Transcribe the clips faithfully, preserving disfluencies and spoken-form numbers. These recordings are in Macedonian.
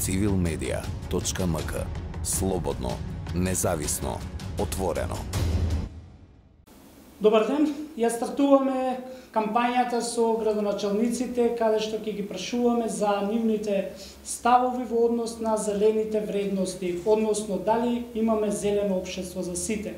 цивил медија точка ем ка. Слободно, независно, отворено. Добар ден, ја стартуваме кампањата со градоначалниците, каде што ќе ги прашуваме за нивните ставови во однос на зелените вредности, односно дали имаме зелено општество за сите.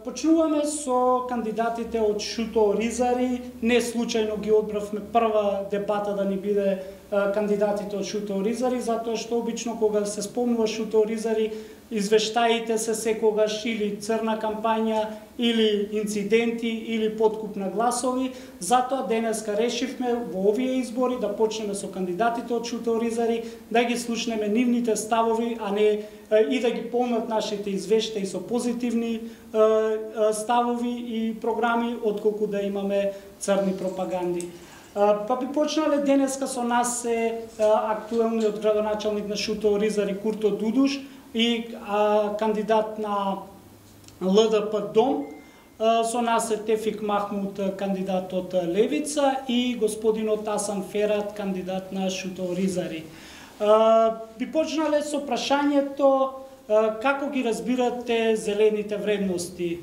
Почнуваме со кандидатите од Шуто Оризари. Не случајно ги одбравме прва дебата да ни биде кандидатите од Шуто Оризари, затоа што обично кога се спомнува Шуто Оризари, извештаите се секогаш или црна кампања, или инциденти, или подкуп на гласови. Затоа денеска решивме во овие избори да почнеме со кандидатите од Шуто Оризари, да ги слушнеме нивните ставови, а не и да ги полнат нашите извештаи со позитивни ставови и програми, отколку да имаме црни пропаганди. Па би почнале денеска со нас е актуелниот градоначалник на Шуто Оризари Курто Дудуш и а, кандидат на Л Д П Дом. Со нас е Тефик Махмуд, кандидат од Левица, и господинот Асан Ферат, кандидат на Шуто Оризари. Би почнале со прашањето како ги разбирате зелените вредности?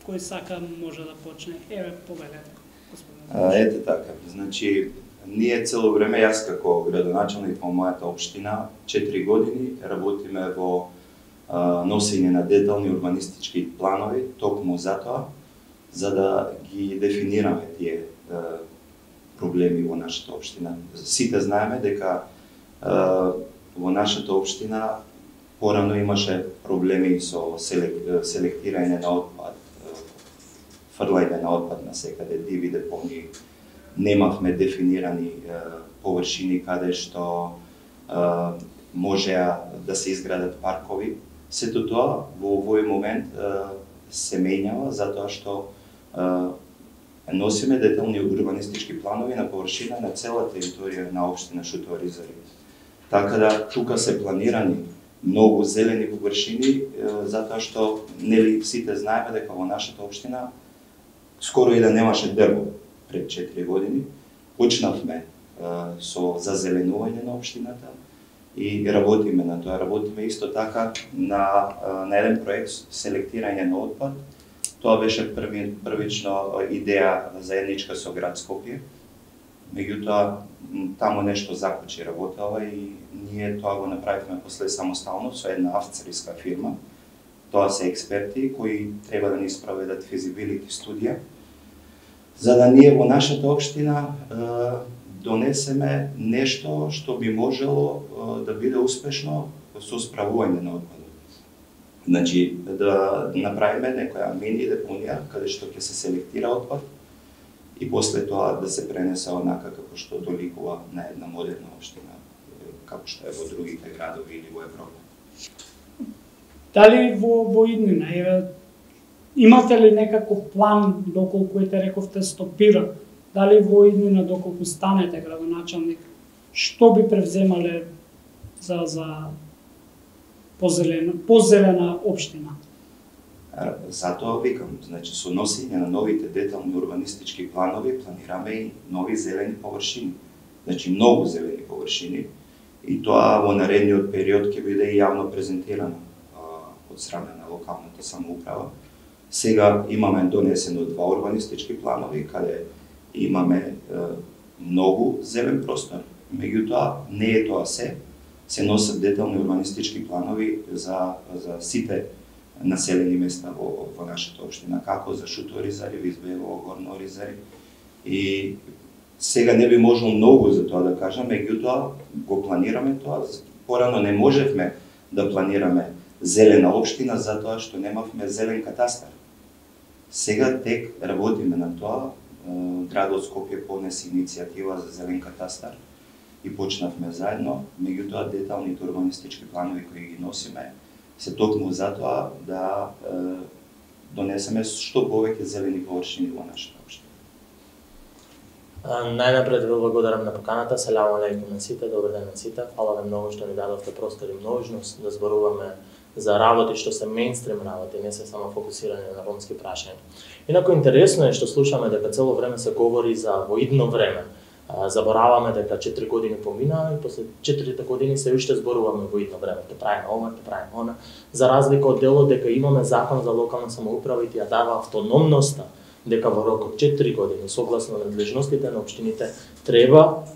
Кој сака може да почне? Еве, повелете, господин. Ете така, значи, ние цело време, јас како градоначалник во мојата општина, четири години работиме во а, носење на детални урбанистички планови, токму затоа, за да ги дефинираме тие а, проблеми во нашата општина. Сите знаеме дека а, во нашата општина порано имаше проблеми со селек, селектирање на отпад, фрлање на отпад на секаде, диви депонии. Немавме дефинирани е, површини каде што е, можеа да се изградат паркови. Сето тоа во овој момент е, се менјава затоа што е, носиме детални урбанистички планови на површина на цела територија на општина Шуто Оризари. Така да тука се планирани многу зелени површини е, затоа што нели сите знаеме дека во нашата општина скоро и да немаше дрво пред четири години. Почнавме а, со зазеленување на општината и работиме на тоа. Работиме исто така на, а, на еден проект селектирање на отпад. Тоа беше први, првично идеја заедничка со град Скопје. Меѓутоа, таму нешто закочи работела и ние тоа го направивме после самостално со една австрийска фирма. Тоа се експерти кои треба да ни спроведат физибилити студија, за да ние во нашата општина е, донесеме нешто што би можело е, да биде успешно со справување на отпадот. Значи, да направиме некоја мини депонија каде што ќе се селектира отпад и после тоа да се пренесе онака како што доликува на една модерна општина, како што е во другите градови или во Европа. Дали во, во иднина, е, имате ли некаков план доколку ете рековте стопира? Дали во иднина доколку станете градоначалник, што би превземале за, за позелена, позелена општина? Затоа викам, значи со носење на новите детални урбанистички планови планираме и нови зелени површини. Значи многу зелени површини и тоа во наредниот период ќе биде и јавно презентирано од страна на локалната самоуправа. Сега имаме донесено два урбанистички планови, каде имаме е, многу зелен простор. Меѓутоа, не е тоа се. Се носат детални урбанистички планови за, за сите населени места во, во нашата општина, како за Шуто Оризари, Визбево, Горно Оризари. И сега не би можел многу за тоа да кажам, меѓутоа го планираме тоа. Порано не можевме да планираме зелена општина затоа што немавме зелен катастар. Сега тек работиме на тоа. Градот Скопје понесе иницијатива за зелен катастар и почнавме заедно. Меѓутоа деталните урбанистички планови кои ги носиме се токму затоа да е, донесеме што повеќе зелени површини во нашата општина. Најнапред ви благодарам на поканата. Селам алейкум на сите, добар ден на сите. Фала ви многу што ни дадовте простор и можност да зборуваме за работи што се мејнстрим работи, не се само фокусирање на ромски прашања. Инаку интересно е што слушаме дека цело време се говори за во идно време. Забораваме дека четири години помина и после четирите години се уште зборуваме во идно време, ќе правиме ова, ќе правиме она, за разлика од делот дека имаме закон за локална самоуправа и ти ја дава автономноста, дека во рок од четири години, согласно надлежностите на општините, треба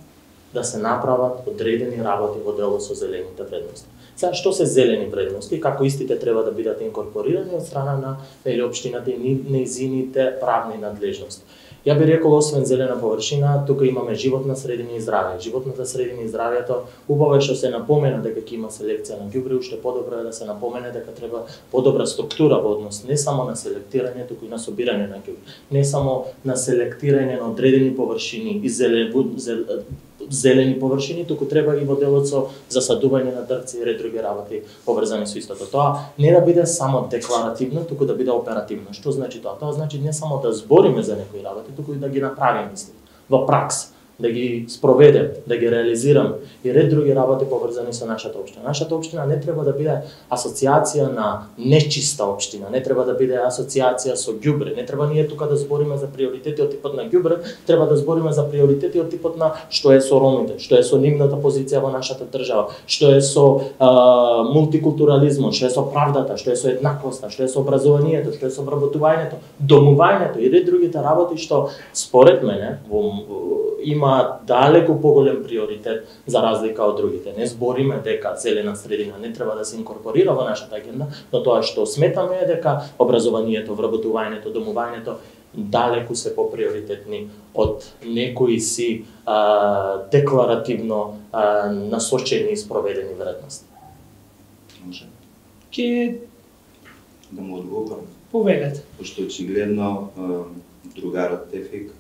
да се направат одредени работи во делот со зелените вредности. Сега, што се зелени вредности, како истите треба да бидат инкорпорирани од страна на нели општината и нејзините правни надлежности. Ја би рекол, освен зелена површина, тука имаме животна средина и здравје. Животната средина и здравјето, убаво е што се напомена дека ќе има селекција на ѓубре, уште подобро е да се напомене дека треба подобра структура во однос не само на селектирање, туку и на собирање на ѓубре. Не само на селектирање на одредени површини и зелен, зел, зелени површини, туку треба и во делот со засадување на дрвци и ред други работи поврзани со истото. Тоа не да биде само декларативно, туку да биде оперативно. Што значи тоа? Тоа значи не само да збориме за некои работи, туку и да ги направиме исти во пракса, да ги спроведем, да ги реализираме и ред други работи поврзани со нашата општина. Нашата општина не треба да биде асоциација на нечиста општина, не треба да биде асоциација со ѓубре, не треба ние тука да збориме за приоритети од типот на ѓубре, треба да збориме за приоритети од типот на што е со ромите, што е со нивната позиција во нашата држава, што е со а, мултикултурализмот, што е со правдата, што е со еднаквоста, што е со образованието, што е со вработувањето, домувањето и ред другите работи што според мене во, има далеку поголем приоритет за разлика од другите. Не збориме дека зелена средина не треба да се инкорпорира во нашата агенда, но тоа што сметаме е дека образованието, вработувањето, домувањето далеку се поприоритетни од некои си а, декларативно а, насочени и спроведени вредности. Може. Ке Да му одговорам. повелете. Пошто очигледно другарот Тефик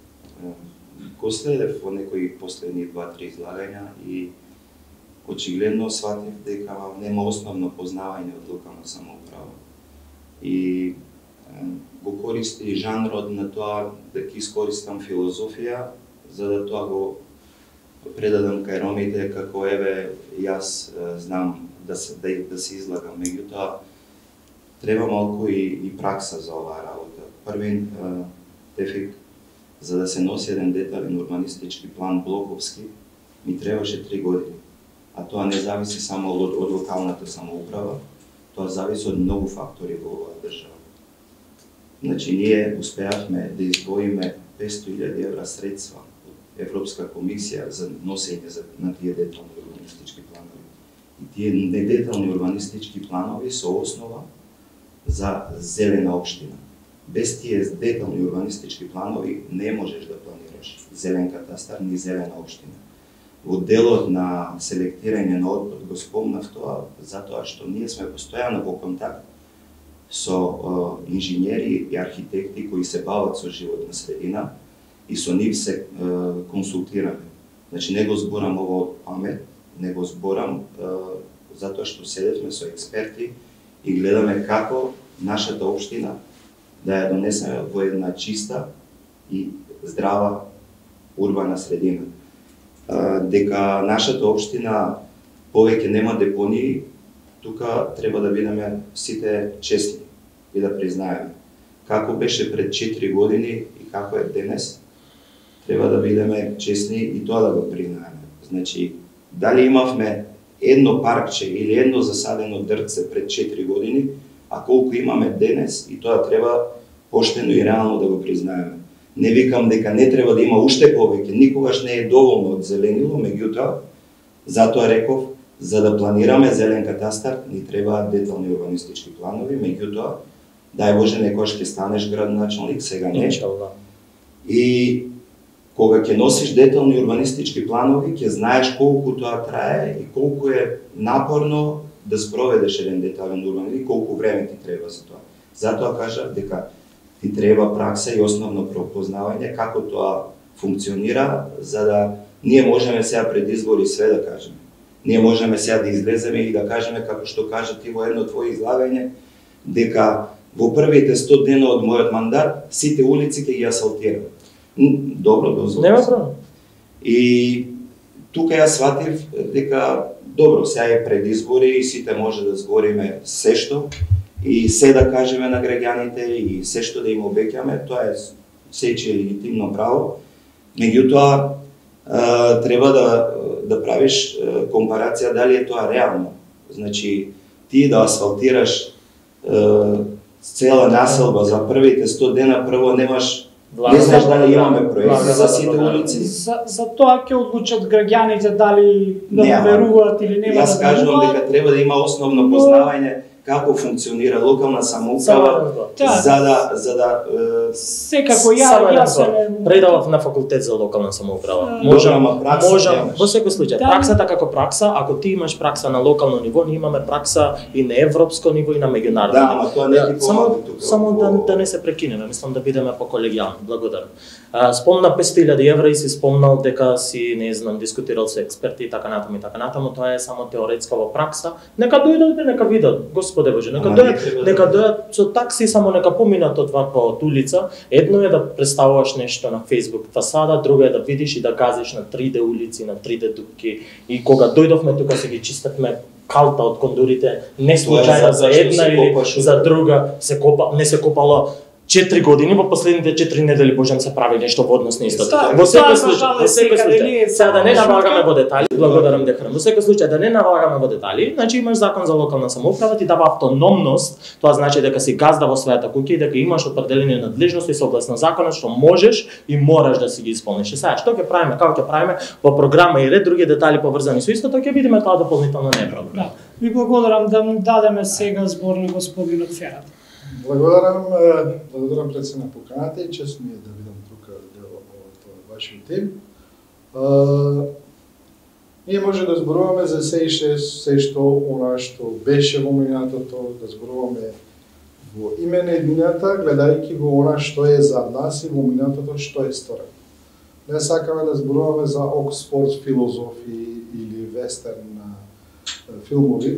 го следев во некои последни два-три излагања и очигледно сватив дека нема основно познавање од локална самоуправа. И го користи жанрот на тоа да ќе искористам филозофија за да тоа го предадам кај ромите како еве јас знам да се да, да се излагам, меѓутоа треба малку и, и пракса за оваа работа. Првин Тефик, за да се носи еден детален урбанистички план блоковски, ми требаше три години. А тоа не зависи само од, од локалната самоуправа, тоа зависи од многу фактори во оваа држава. Значи, ние успеавме да издвоиме петстотини илјади евра средства од Европска комисија за носење на тие детални урбанистички планови. И тие недетални урбанистички планови се основа за зелена општина. Без тие детални урбанистички планови не можеш да планираш зелен катастар ни зелена општина. Во делот на селектирање на отпад го спомнав тоа, затоа што ние сме постојано во контакт со е, инженери и архитекти кои се бават со животна средина и со нив се е, консултираме. Значи не го зборам ово од памет, не го зборам е, затоа што седевме со експерти и гледаме како нашата општина да ја донесеме во една чиста и здрава урбана средина. Дека нашата општина повеќе нема депонии, тука треба да бидеме сите честни и да признаеме. Како беше пред четири години и како е денес, треба да бидеме честни и тоа да го признаеме. Значи, дали имавме едно паркче или едно засадено дрвце пред четири години, а колку имаме денес, и тоа треба поштено и реално да го признаеме. Не викам дека не треба да има уште повеќе, никогаш не е доволно од зеленило, меѓутоа, затоа реков, за да планираме зелен катастар, ни требаат детални урбанистички планови, меѓутоа, дај Боже, некојаш ќе станеш градоначалник, сега не. И кога ќе носиш детални урбанистички планови, ќе знаеш колку тоа трае и колку е напорно да спроведеш еден детален урбан и колку време ти треба за тоа. Затоа кажав дека ти треба пракса и основно пропознавање како тоа функционира, за да ние можеме сега пред избори све да кажеме. Ние можеме сега да излеземе и да кажеме, како што кажа ти во едно твое излагање, дека во првите сто дена од мојот мандат сите улици ќе ги асфалтирам. Добро, дозволам. Нема проблем. И тука ја сватив дека добро, сега е пред избори и сите може да збориме се што и се да кажеме на граѓаните и се што да им обеќаме, тоа е сече легитимно право. Меѓутоа, а, треба да да правиш а, компарација дали е тоа реално. Значи ти да асфалтираш а, цела населба за првите сто дена, прво немаш не знаеш дали имаме проекти за сите улици. За, за тоа ќе одлучат граѓаните дали да Нема. веруваат или нема Јас да кажувам веруваат. дека треба да има основно познавање како функционира локална самоуправа Да. за да за да е, Секако ја Само една јас ствар. се Предавав на факултет за локална самоуправа. Да. Можам, Добра, ама пракса можам, немаш. во секој случај, Да. праксата како пракса, ако ти имаш пракса на локално ниво, ние имаме пракса и на европско ниво и на меѓународно Да, ниво. ама тоа не ти само помага тука. само да, да не се прекинеме, мислам да бидеме по-колегијални. Благодарам. А, спомна петстотини илјади евра и си спомнал дека си, не знам, дискутирал со експерти и така натаму и така натаму, тоа е само теоретска во пракса. Нека дојдат и нека видат, Господе Боже, нека Ама дојдат, не треба да нека дојдат. дојдат со такси, само нека поминат од два од улица. Едно е да представуваш нешто на Facebook фасада, друго е да видиш и да газиш на три Д улици, на три Д дупки. И кога дојдовме тука се ги чистевме калта од кондурите, не случајно за една или за друга се копа, не се копало четири години, во последните четири недели Божем се прави нешто во однос на исто. Да, Во секој тоа, случај, во нажалост, секој секаде не е случај, сега да не шутка. навагаме во детали, благодарам Дехран. Во секој случај да не навагаме во детали, значи имаш закон за локална самоуправа, ти дава автономност, тоа значи дека си газда во својата куќа и дека имаш определени надлежности согласно законот што можеш и мораш да си ги исполниш. И сега што ќе правиме, како ќе правиме во програма и ред други детали поврзани со истото, ќе видиме тоа дополнително не е проблем. Да. Ви благодарам да му дадеме сега збор на господинот Ферат. Благодарам, е, благодарам пред се на поканата и чест ми е да видам тука дел од вашиот тим. Е, ние може да зборуваме за се и ше, се што она што беше во минатото, да зборуваме во име на едината, гледајќи го она што е за нас и во минатото што е сторено. Не сакаме да зборуваме за Оксфорд филозофи или вестерн е, филмови.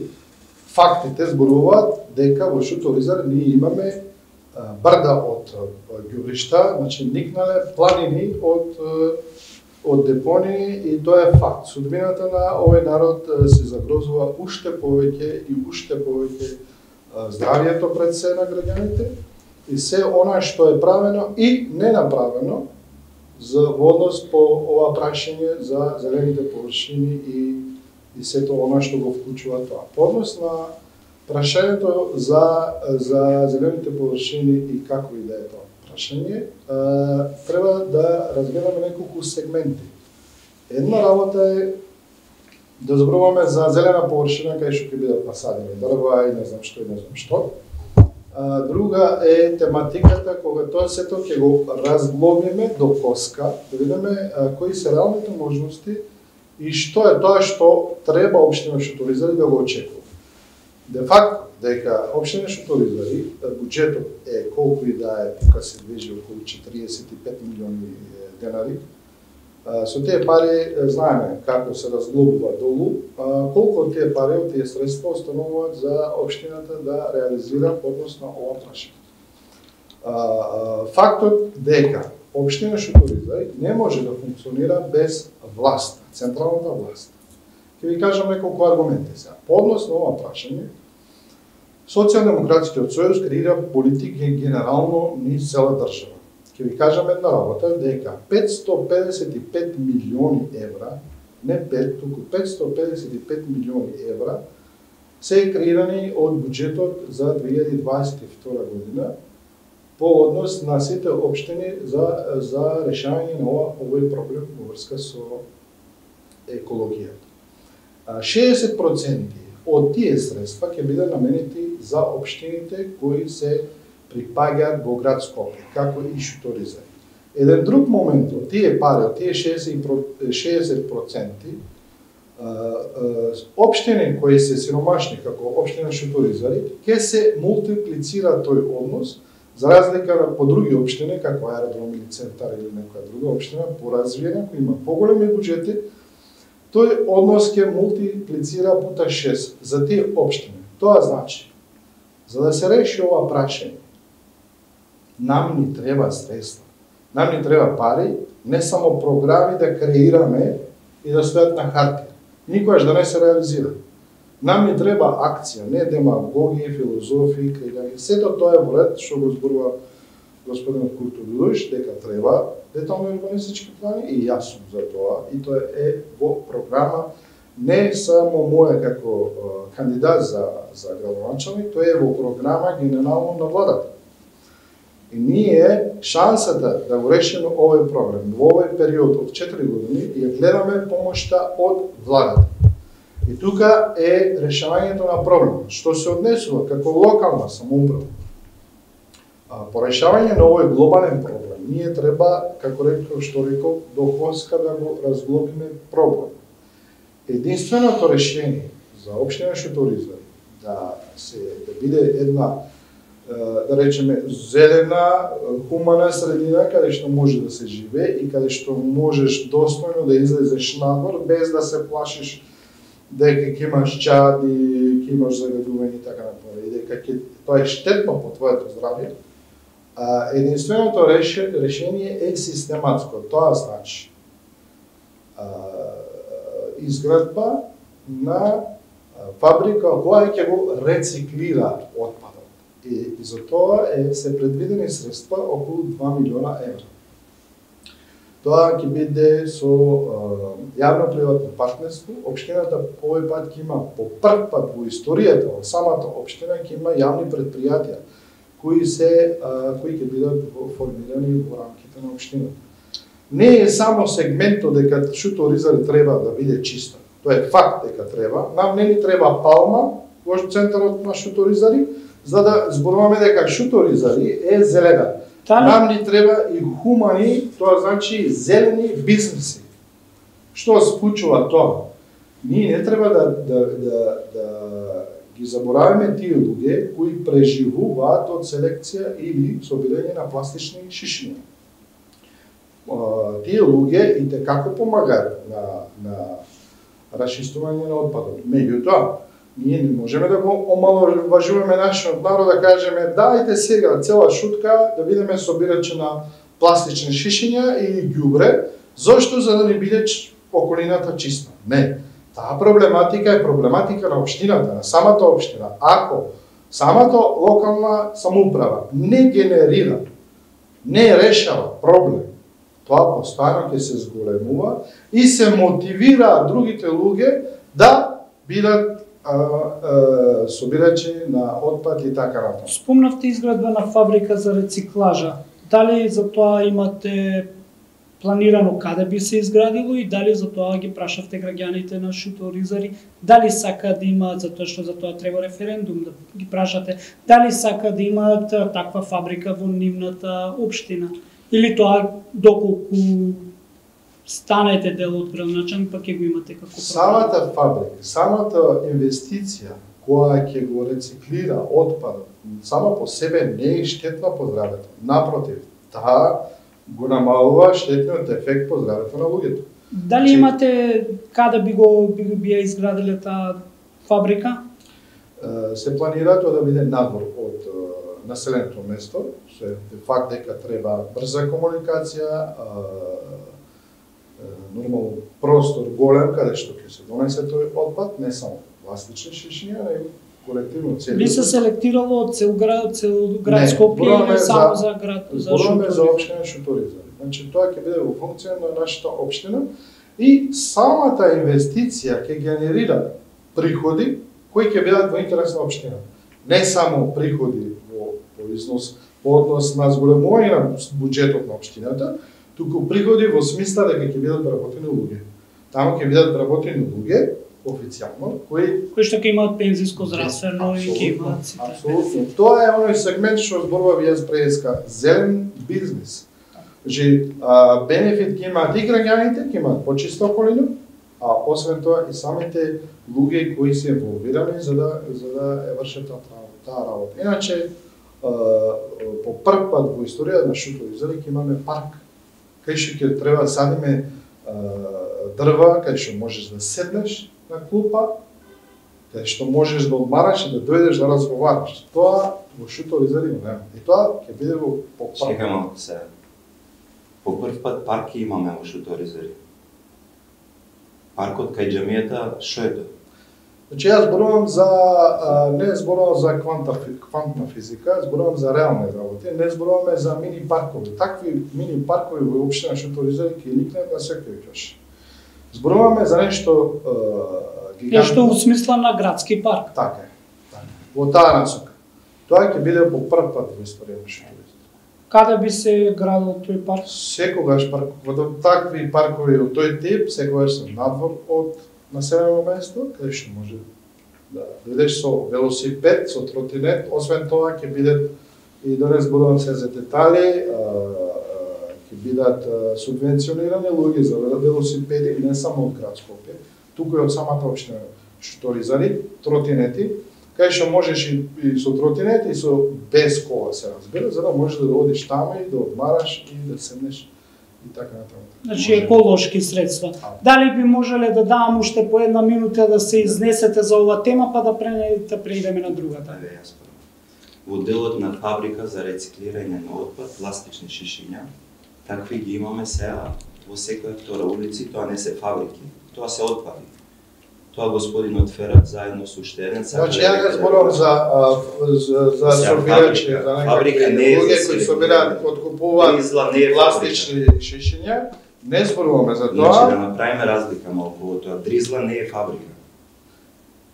Фактите зборуваат дека во Шуторизар ние имаме а, брда од ѓубришта, значи никнале планини од од депонии и тоа е факт. Судбината на овој народ а, се загрозува уште повеќе и уште повеќе а, здравието пред се на граѓаните и се она што е правено и не направено за во однос по ова прашање за зелените површини и и сето она што го вклучува тоа. По однос на прашањето за за зелените површини и како и да е тоа прашање, а, треба да разгледаме неколку сегменти. Една работа е да зборуваме за зелена површина кај што ќе бидат насадени дрва и не знам што и не знам што. А, друга е тематиката кога тоа сето ќе го разглобиме до коска, да видиме а, кои се реалните можности и што е тоа што треба општина Шуторизари да го очекува. Де факто, дека општина Шуторизари, буџетот е колку и да е, тука се движи околу четириесет и пет милиони денари. Со тие пари знаеме како се разглобува долу, колку од тие пари, од тие средства остануваат за општината да реализира односно ова прашање. Фактот дека општина Шуторизари не може да функционира без власт, централната власт. Ќе ви кажам неколку аргументи сега. По однос на ова прашање, Социјалдемократскиот сојуз креира политики генерално низ цела држава. Ќе ви кажам една работа, дека петстотини педесет и пет милиони евра, не пет, туку петстотини педесет и пет милиони евра, се креирани од буџетот за две илјади дваесет и втора година по однос на сите општини за за решавање на ова овој проблем во врска со екологијата. шеесет проценти од тие средства ќе бидат наменети за општините кои се припаѓаат во град Скопје, како и Шуторизари. Еден друг момент од тие пари, од тие шеесет проценти, општини кои се сиромашни, како општина Шуторизари, ќе се мултиплицира тој однос, за разлика на по други општини, како Аеродром или Центар или некоја друга општина, поразвиена, која има поголеми буџети, тој однос ќе мултиплицира пута шест за тие општини. Тоа значи, за да се реши ова прашање, нам ни треба средства, нам ни треба пари, не само програми да креираме и да стојат на хартија, никогаш да не се реализира. Нам ни треба акција, не демагогија, филозофија, креирање. Сето тоа е во ред што го зборува господинот Курту Билуиш дека треба детални урбанистички плани и јас сум за тоа и тоа е во програма не само моја како uh, кандидат за за градоначалник, тоа е во програма генерално на владата. И ние шансата да го решиме овој проблем во овој период од четири години ја гледаме помошта од владата. И тука е решавањето на проблемот, што се однесува како локална самоуправа. По решавање на овој глобален проблем, ние треба, како реков, што реков, до Хоска да го разглобиме проблем. Единственото решение за општина Шуторизари да се да биде една, да речеме, зелена, хумана средина каде што може да се живее и каде што можеш достојно да излезеш надвор без да се плашиш дека ќе имаш чади, ќе имаш загадување и така напред, и дека ќе тоа е штетно по твоето здравје. А, единственото реше, решение е систематско. Тоа значи а, изградба на фабрика која ќе го рециклира отпадот. И, и за тоа е се предвидени средства околу два милиона евра. Тоа ќе биде со јавно-приватно партнерство. Општината по овој пат ќе има по прв пат во историјата во самата општина ќе има јавни предпријатија кои се а, кои ќе бидат формирани во рамките на општината. Не е само сегментот дека Шуторизари треба да биде чиста. Тоа е факт дека треба. Нам не ни треба палма во центарот на Шуторизари, за да зборуваме дека Шуторизари е зелена. Тали... Нам ни треба и хумани, тоа значи зелени бизнеси. Што спучува тоа? Ние не треба да, да, да, да ги забораваме тие луѓе кои преживуваат од селекција или собирање на пластични шишини. Тие луѓе и те како помагаат на, на расчистување на отпадот. Меѓутоа, ние не можеме да го омаловажуваме нашиот народ, да кажеме дајте сега цела шутка да бидеме собирачи на пластични шишиња или ѓубре, зошто за да не биде околината чиста. Не. Таа проблематика е проблематика на општината, на самата општина. Ако самата локална самоуправа не генерира, не решава проблем, тоа постојано ќе се зголемува и се мотивира другите луѓе да бидат а, а, собирачи на отпад и така натаму. Спомнавте изградба на фабрика за рециклажа. Дали за тоа имате планирано каде би се изградило и дали за тоа ги прашавте граѓаните на Шуторизари, дали сака да имаат, затоа што за тоа треба референдум, да ги прашате, дали сака да имаат таква фабрика во нивната општина, или тоа доколку станете дел од градоначалник, па ќе го имате како проблем. Самата фабрика, самата инвестиција која ќе го рециклира отпадот, сама по себе не е штетна по здравето. Напротив, таа го намалува штетниот ефект по здравето на луѓето. Дали Че... имате каде би го би, би ја изградиле таа фабрика? Се планира тоа да биде надвор од населеното место, се факт дека треба брза комуникација, нормално простор голем каде што ќе се донесе тој отпад, не само пластични шишиња, него колективно цели. Би се селектирало од цел град, цел град Скопје или само за, за град за Шуторизари? За општина Шуторизари. Значи тоа ќе биде во функција на нашата општина и самата инвестиција ќе генерира приходи кои ќе бидат во интерес на општината. Не само приходи во, во износ, во однос на зголемување на буџетот на општината, туку приходи во смисла дека ќе бидат вработени луѓе. Таму ќе бидат вработени луѓе официјално, кои кои што ќе имаат пензиско здравствено и ќе имаат сите. Апсолутно. Тоа е оној сегмент што зборува јас преска, зелен бизнес. Значи, бенефит ќе имаат и граѓаните, ќе имаат почиста околина, а освен тоа и самите луѓе кои се инволвирани за да за да ја вршат таа работа. Иначе по прв пат во историјата на Шуторизари ќе имаме парк кај што ќе треба да садиме дрва, кај што можеш да седнеш на клупа, кај што можеш да одмараш и да дојдеш да разговараш. Тоа во Шуторизари нема. И тоа ќе биде во по прв. Чекај малку се. По прв пат парки имаме во Шуторизари. Паркот кај џамијата, што е тоа? Значи јас зборувам за а, не зборувам за кванта, квантна физика, зборувам за реални работи, не зборуваме за мини паркови. Такви мини паркови во општина Шуторизари ќе никнат на секој каш. Зборуваме за нешто а, гигантно. Нешто во смисла на градски парк. Така е. Така. Во таа насока. Тоа ќе биде по прв пат во историја на Шуторизари. Каде би се градил тој парк? Секогаш парк, во такви паркови од тој тип, секогаш се надвор од населено место, каде што може да дојдеш со велосипед, со тротинет, освен тоа ќе бидат и да не зборувам се за детали, ќе бидат субвенционирани луѓе за велосипеди и не само од град Скопје, туку и од самата општина Шуторизари, тротинети, кај што можеш и, и со тротинет и со без кола се разбира, за да можеш да одиш таму и да одмараш и да седнеш и така натаму. Значи еколошки средства. Дали би можеле да давам уште по една минута да се изнесете за оваа тема, па да пренедете преидеме на другата? Еве јас прво. Во делот на фабрика за рециклирање на отпад, пластични шишиња, такви ги имаме сега во секоја втора улици, тоа не се фабрики, тоа се отпади. Тоа господинот Ферат заедно со уште еден сака. Значи ја не зборувам за а, за за собирачи, за некакви луѓе кои собираат, откупуваат пластични шишиња. Не зборуваме за тоа. Значи да направиме разлика малку во тоа. Дризла не е фабрика.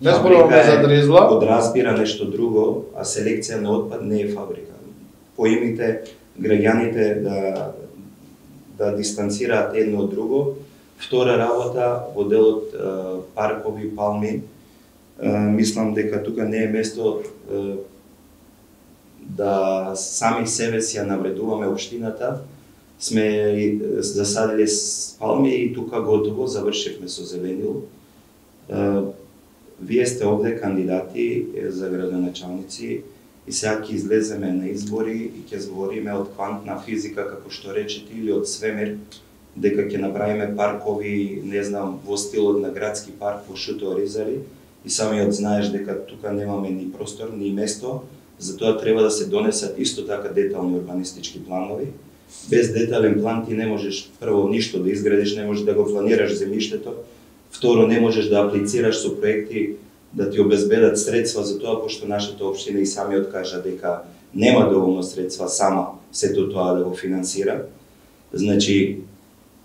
Не зборуваме за дризла. Подразбира нешто друго, а селекција на отпад не е фабрика. Поимите граѓаните да да дистанцираат едно од друго. Втора работа во делот е, паркови, палми, е, мислам дека тука не е место е, да сами себе си ја навредуваме општината. Сме засадиле палми и тука готово завршивме со зеленил. Е, вие сте овде кандидати за градоначалници и сега ќе излеземе на избори и ќе збориме од квантна физика, како што речете, или од свемир, дека ќе направиме паркови, не знам, во стилот на градски парк во Шуторизари и самиот знаеш дека тука немаме ни простор, ни место, затоа треба да се донесат исто така детални урбанистички планови. Без детален план ти не можеш прво ништо да изградиш, не можеш да го планираш земјиштето, второ не можеш да аплицираш со проекти да ти обезбедат средства за тоа, пошто нашата општина и самиот кажа дека нема доволно средства сама сето тоа да го финансира. Значи,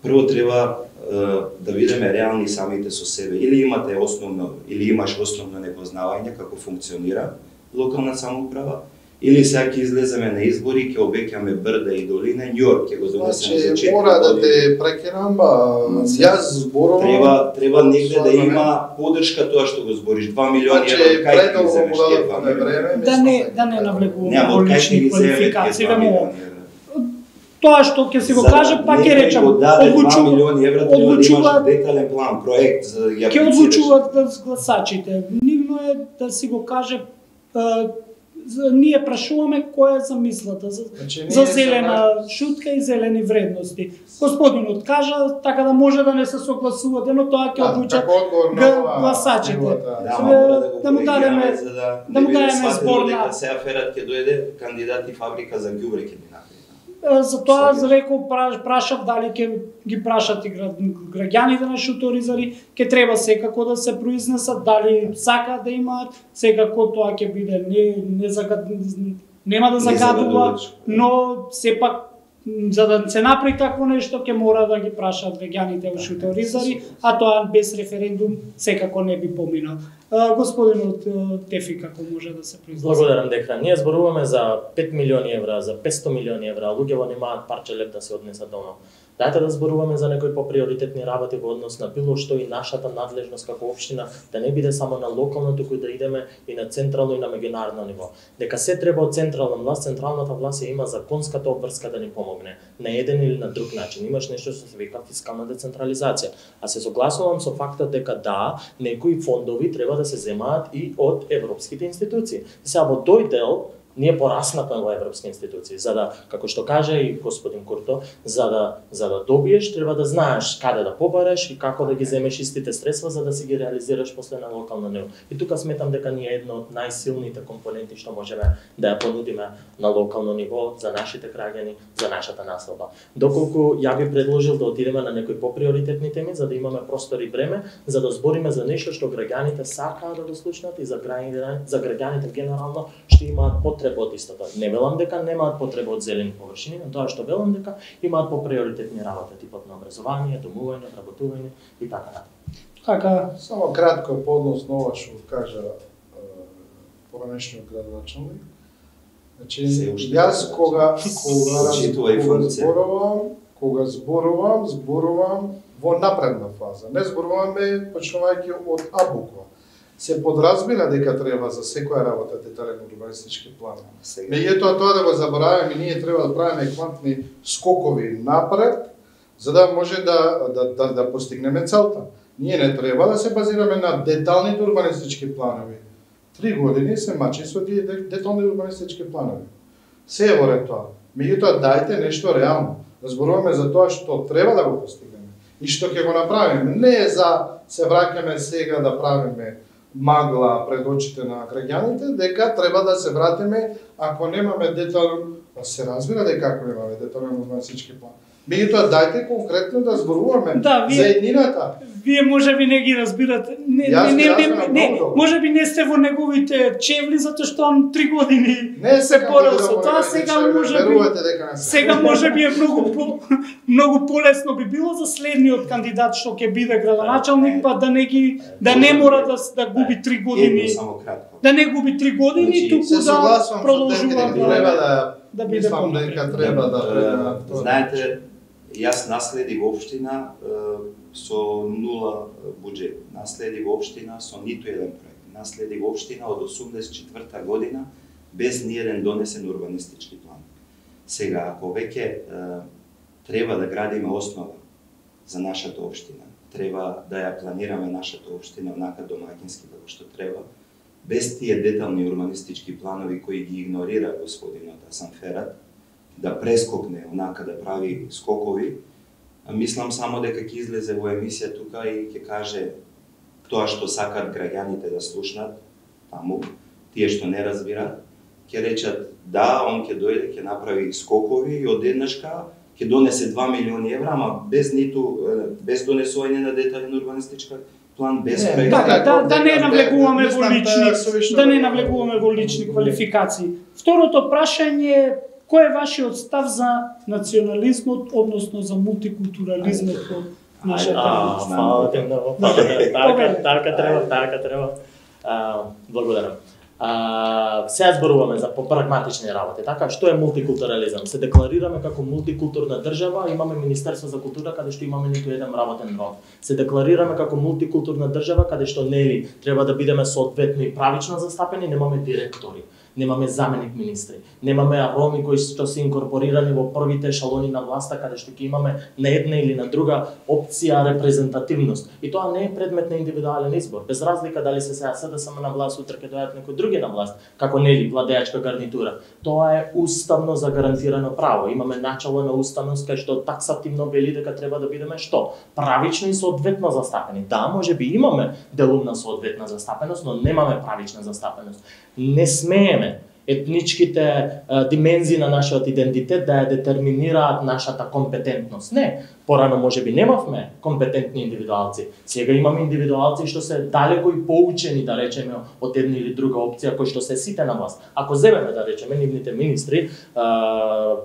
прво треба е, да видиме реални самите со себе. Или имате основно, или имаш основно непознавање како функционира локална самоуправа, или сега ќе излеземе на избори, ќе обеќаме брда и долина, Њујорк ќе го донесеме за четири мора да години. те прекинам, јас зборувам. Треба треба негде да има поддршка тоа што го збориш. два милиони евра од кај ќе ги земеш тие два милиони? Да не да не навлегуваме Нема во од кај ќе лични ги земеш квалификации, тие два вемо. милиони евра? Тоа што ќе си го каже, па ќе речам, одлучува милиони евра, треба да имаш одлучуваат детален план, проект за да ја ќе аплицираш. одлучуваат да гласачите. Нивно е да си го каже а, за, ние прашуваме која е замислата за, Значи, за ние зелена шутка и зелени вредности. Господинот кажа така да може да не се согласувате, но тоа ќе одлучат гласачите. Да, мора да го да му дадеме коригираме за да да му не биде дадеме сватено збор дека на сега Ферат ќе дојде кандидат и фабрика за ѓубре ќе ни направи. затоа за рекол прашав дали ќе ги прашат и граѓаните на Шуторизари, ќе треба секако да се произнесат дали сакаат да имаат, секако тоа ќе биде не не загад... нема да загадува, но сепак за да се направи такво нешто ќе мора да ги прашаат граѓаните во Шуторизари, а тоа без референдум секако не би поминал. Господинот Тефи, како може да се произнесе? Благодарам дека ние зборуваме за пет милиони евра, за петсто милиони евра, а луѓето немаат парче леп да се однесат дома. Дајте да зборуваме за некои поприоритетни работи во однос на било што и нашата надлежност како општина да не биде само на локално, туку да идеме и на централно и на меѓународно ниво. Дека се треба од централна власт, централната власт ја има законската обврска да ни помогне на еден или на друг начин. Имаш нешто што се вика фискална децентрализација. А се согласувам со фактот дека да, некои фондови треба да се земаат и од европските институции. Сега во тој дел Ние пораснавме во европски институции, за да, како што каже и господин Курто, за да за да добиеш треба да знаеш каде да побареш и како да ги земеш истите средства за да си ги реализираш после на локално ниво. И тука сметам дека ние едно од најсилните компоненти што можеме да ја понудиме на локално ниво за нашите граѓани, за нашата населба. Доколку ја би предложил да отидеме на некои поприоритетни теми за да имаме простор и време, за да збориме за нешто што граѓаните сакаат да го слушнат и за граѓаните, за граѓаните генерално што имаат потреба од истото. Не велам дека немаат потреба од зелени површини, но тоа што велам дека имаат поприоритетни работи, типот на образование, домување, работување и така натаму. Така, Само кратко по однос на ова што кажа поранешниот градоначалник. Значи, јас кога кога кога зборувам, кога зборувам, зборувам во напредна фаза. Не зборуваме почнувајќи од А буква. Се подразбира дека треба за секоја работа детален урбанистички план. Меѓутоа тоа да го забораваме, ние треба да правиме квантни скокови напред, за да може да да да, да постигнеме целта. Ние не треба да се базираме на деталните урбанистички планови. Три години се мачи со тие детални урбанистички планови. Се е во ред тоа. Меѓутоа дајте нешто реално. Да зборуваме за тоа што треба да го постигнеме и што ќе го направиме. Не е за се враќаме сега да правиме магла пред очите на граѓаните, дека треба да се вратиме ако немаме детално, се разбира дека ако немаме детален урбанистички план. Меѓутоа дајте конкретно да зборуваме Да, вие- за еднината. вие може би не ги разбирате. Не, Јас не, ги не, разбирам не, не, многу добро. може би не сте во неговите чевли затоа што он три години Не се сакам борел да со го тоа, верувате, сега че може би верувате дека не се. сега може би е многу по, многу полесно би било за следниот кандидат што ќе биде градоначалник, па да не ги да не мора да да губи три години, Едно само кратко. да не губи три години, Значи, туку Се да согласувам со продолжува дека треба да да да биде мислам понапред. дека треба да да- Е, Знаете, јас наследив општина е, со нула буџет. Наследив општина со ниту еден проект. Наследив општина од осумдесет и четврта година без ни еден донесен урбанистички план. Сега, ако веќе е, треба да градиме основа за нашата општина, треба да ја планираме нашата општина онака домаќински како што треба, без тие детални урбанистички планови кои ги игнорира господинот Асан Ферат, да прескокне онака да прави скокови, мислам само дека ќе излезе во емисија тука и ќе каже тоа што сакаат граѓаните да слушнат таму, тие што не разбираат, ќе речат да, он ќе дојде, ќе направи скокови и одеднашка ќе донесе два милиони евра, ама без ниту без донесување на детален урбанистички план, без Не, проект. Така, да, да не Дека- навлегуваме во мислам, лични, тоа совишно да не да- навлегуваме во лични квалификации. Второто прашање е кој е вашиот став за национализмот, односно за мултикултурализмот во нашата А, страна? фала ти многу, фала ти. Така, така треба, така треба. А, благодарам. А, сега зборуваме за попрагматични работи, така? Што е мултикултурализам? Се декларираме како мултикултурна држава, имаме Министерство за култура каде што имаме ниту еден работен род. Се декларираме како мултикултурна држава каде што нели треба да бидеме соодветно и правично застапени, немаме директори, немаме заменик министри, немаме роми кои што се инкорпорирани во првите ешалони на власта каде што ќе имаме на една или на друга опција репрезентативност. И тоа не е предмет на индивидуален избор. Без разлика дали се сега СДСМ на власт, утре ќе дојдат некои други на власт, како нели владеачка гарнитура. Тоа е уставно загарантирано право. Имаме начало на уставност кај што таксативно вели дека треба да бидеме што? Правично и соодветно застапени. Да, може би имаме делумна соодветна застапеност, но немаме правична застапеност. Не смееме етничките а, димензии на нашиот идентитет да ја детерминираат нашата компетентност. Не, порано можеби немавме компетентни индивидуалци. Сега имаме индивидуалци што се далеко и поучени, да речеме, од една или друга опција кои што се сите на власт. Ако земеме, да речеме, нивните министри, а,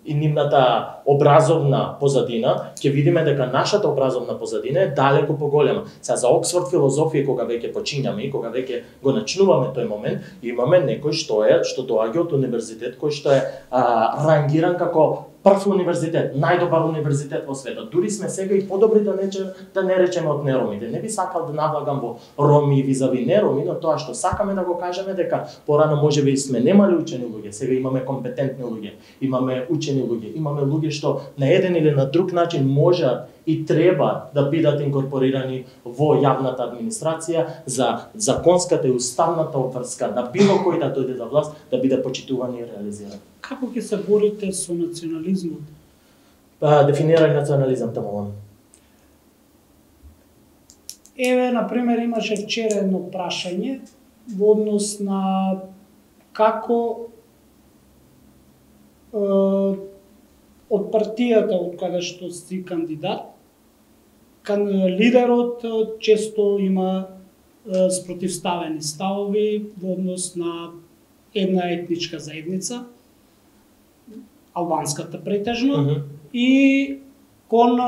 и нивната образовна позадина, ќе видиме дека нашата образовна позадина е далеко поголема. Сега за Оксфорд филозофија кога веќе почињаме и кога веќе го начнуваме тој момент, имаме некој што е што доаѓа од универзитет кој што е а, рангиран како прв универзитет, најдобар универзитет во светот. Дури сме сега и подобри да не, да не речеме од неромите. Не би сакал да навлагам во роми и визави нероми, но тоа што сакаме да го кажеме дека порано можеби сме немали учени луѓе, сега имаме компетентни луѓе, имаме учени луѓе, имаме луѓе што на еден или на друг начин можат и треба да бидат инкорпорирани во јавната администрација за законската и уставната обврска на било кој да дојде до власт да биде почитуван и реализиран. Како ќе се борите со национализмот? Па, дефинирај национализам таму. Еве, например, имаше вчера едно прашање во однос на како е, од партијата од каде што си кандидат, кан лидерот често има е, спротивставени ставови во однос на една етничка заедница, албанската претежно, mm -hmm. и кон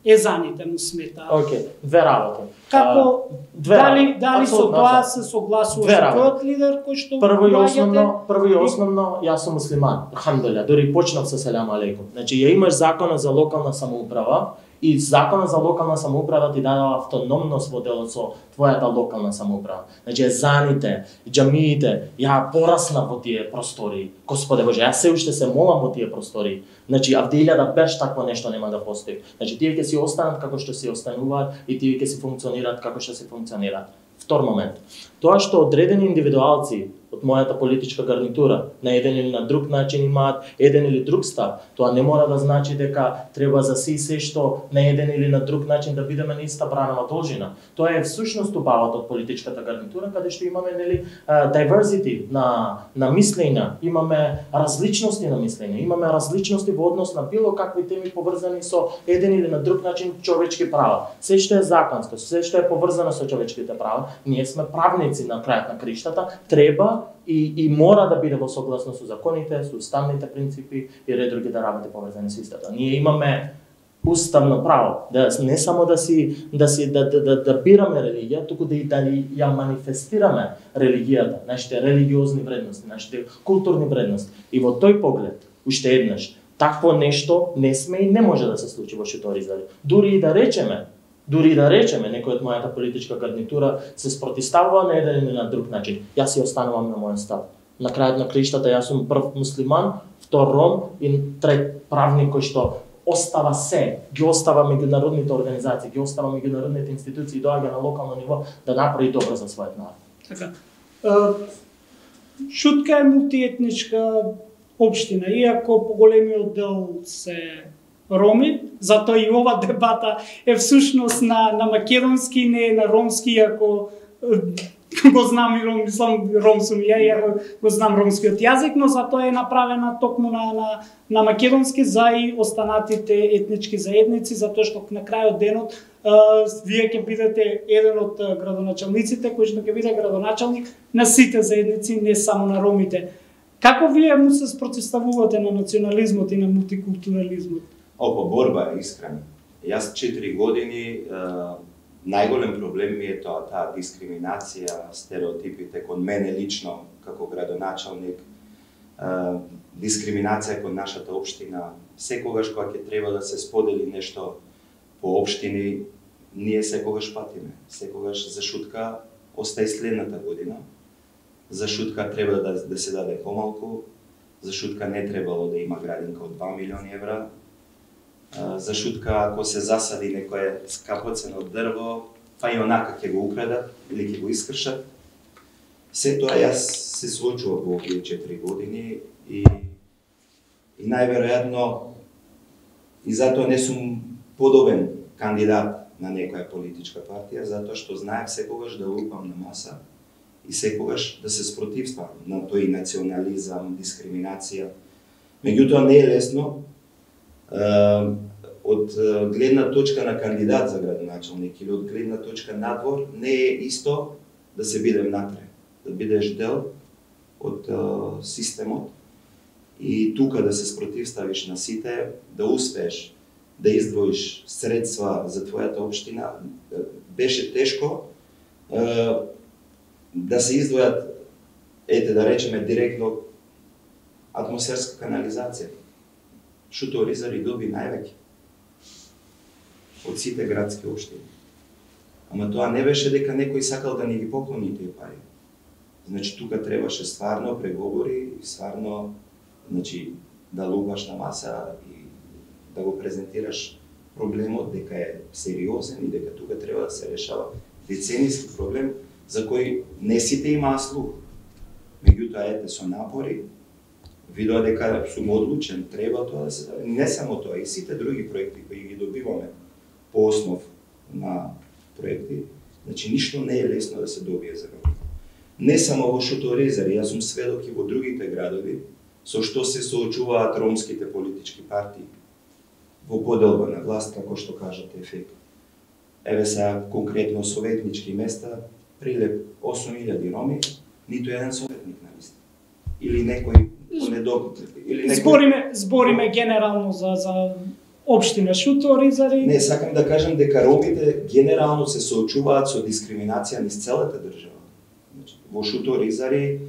езаните му смета. Океј, okay. две работи. Како две дали дали со Абсолютно, тоа се согласува со тој лидер кој што Прво и основно, прво и основно, јас сум муслиман, алхамдулилlah, дури почнав со селам алейкум. Значи ја имаш законот за локална самоуправа и законот за локална самоуправа ти дадава автономност во делот со твојата локална самоуправа. Значи езаните, џамиите, ја пораснав во тие простори. Господе Боже, јас се уште се молам во тие простори. Значи Авдилја да беш такво нешто нема да постои. Значи тие ќе си останат како што си остануваат и тие ќе си функционираат како што си функционираат. Втор момент. Тоа што одредени индивидуалци од мојата политичка гарнитура на еден или на друг начин имаат еден или друг став, тоа не мора да значи дека треба за си се што на еден или на друг начин да бидеме на иста бранава должина. Тоа е всушност убавата од политичката гарнитура, каде што имаме нели diversity на на мислења, имаме различности на мислење, имаме различности во однос на било какви теми поврзани со еден или на друг начин човечки права. Се што е законско, се што е поврзано со човечките права, ние сме правници на крајот на криштата, треба и, и мора да биде во согласно со законите, со уставните принципи и ред други да работи поврзани со истата. Ние имаме уставно право да не само да си да си да да, да, да бираме религија, туку да и да ја манифестираме религијата, нашите религиозни вредности, нашите културни вредности. И во тој поглед, уште еднаш, такво нешто не сме и не може да се случи во Шуторизари. Дури и да речеме Дури да речеме, некој од мојата политичка гарнитура се спротивставува на еден или на друг начин. Јас си останувам на мојот став. На крајот на криштата јас сум прв муслиман, втор ром и трет правник кој што остава се, ги остава меѓународните организации, ги остава меѓународните институции, доаѓа на локално ниво да направи добро за својот народ. Така. Шутка е мултиетничка општина, иако поголемиот дел се роми, затоа и ова дебата е всушност на, на македонски, не е на ромски, иако го знам и ром, мислам ром сум ја, иако го знам ромскиот јазик, но затоа е направена токму на, на, на македонски за и останатите етнички заедници, затоа што на крајот денот а, вие ќе бидете еден од градоначалниците кој што ќе биде градоначалник на сите заедници, не само на ромите. Како вие му се спротивставувате на национализмот и на мултикултурализмот? Опа, борба е искрена. Јас четири години е, најголем проблем ми е тоа, таа дискриминација, стереотипите кон мене лично како градоначалник, е, дискриминација кон нашата општина. Секогаш кога ќе треба да се сподели нешто по општини, ние секогаш патиме. Секогаш за шутка остаи следната година. За шутка треба да, да се даде помалку, за шутка не требало да има градинка од два милиони евра. За шутка, ако се засади некое скапоцено дрво, па и онака ќе го украдат или ќе го искршат. Се тоа јас се случува во овие четири години и, и најверојатно и затоа не сум подобен кандидат на некоја политичка партија, затоа што знаев секогаш да лупам на маса и секогаш да се спротивствам на тој национализам, дискриминација. Меѓутоа не е лесно. Uh, од uh, гледна точка на кандидат за градоначалник или од гледна точка надвор, не е исто да се бидем натре, да бидеш дел од uh, системот и тука да се спротивставиш на сите, да успееш да издвоиш средства за твојата општина. Беше тешко uh, да се издвојат, ете да речеме директно, атмосферска канализација. Шуторизари доби највеќе од сите градски општини. Ама тоа не беше дека некој сакал да ни ги поклони тие пари. Значи тука требаше стварно преговори и стварно, значи, да лупаш на маса и да го презентираш проблемот дека е сериозен и дека тука треба да се решава деценијски проблем за кој не сите имаа слух. Меѓутоа, ете, со напори, видоа дека сум одлучен, треба тоа да се... Не само тоа, и сите други проекти кои ги добиваме по основ на проекти, значи ништо не е лесно да се добие за ромите. Не само во Шуторезари, јас сум сведок и во другите градови, со што се соочуваат ромските политички партии во поделба на власт, како што кажате, ефект. Еве сега конкретно советнички места, прилеп осум илјади роми, ниту еден советник на листа. Или некој недоб... или некој... Збориме, збориме генерално за за општина Шуторизари. Не, сакам да кажам дека ромите генерално се соочуваат со дискриминација низ целата држава. Значи, во Шуторизари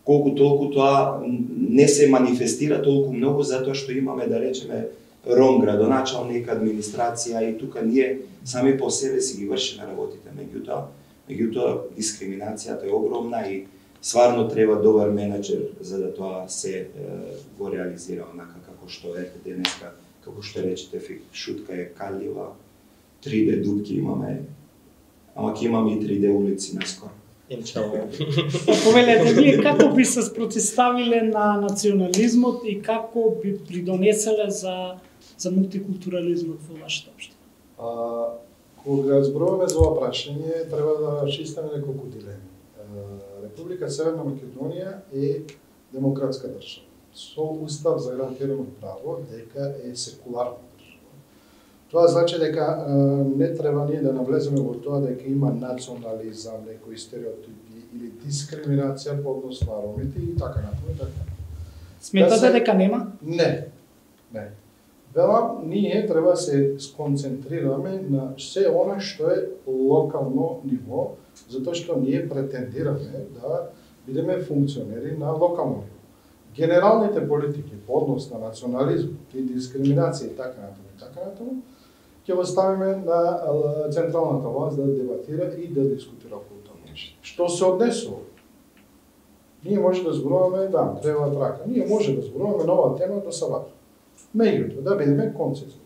колку толку тоа не се манифестира толку многу затоа што имаме, да речеме, ром градоначалник, администрација и тука ние сами по себе си ги вршиме работите. Меѓутоа, меѓутоа дискриминацијата е огромна и стварно треба добар менеджер за да тоа се е, го реализира онака како што е денеска, како што речете, Шутка е калјива, три Д дупки имаме, ама ќе имаме и три Д улици наскоро. Повелете, вие како би се спротивставиле на национализмот и како би придонеселе за за мултикултурализмот во вашата општина? А, кога зборуваме за ова прашање, треба да расчистиме неколку дилеми. Република Северна Македонија е демократска држава со устав загарантирано право дека е секуларна држава. Тоа значи дека не треба ние да навлеземе во тоа дека има национализам, некои стереотипи или дискриминација по однос на ромите и така натаму и така. Сметате да се... дека нема? Не. Не. Велам, ние треба да се сконцентрираме на се она што е локално ниво, затоа што ние претендираме да бидеме функционери на локално ниво. Генералните политики по однос на национализмот и дискриминација и така натаму и така натаму ќе го ставиме на централната власт да дебатира и да дискутира околу тоа нешто. Што се однесува? Ние може да зборуваме, да, треба трака. Ние може да зборуваме нова тема до сабата. Меѓутоа, да бидеме концизни.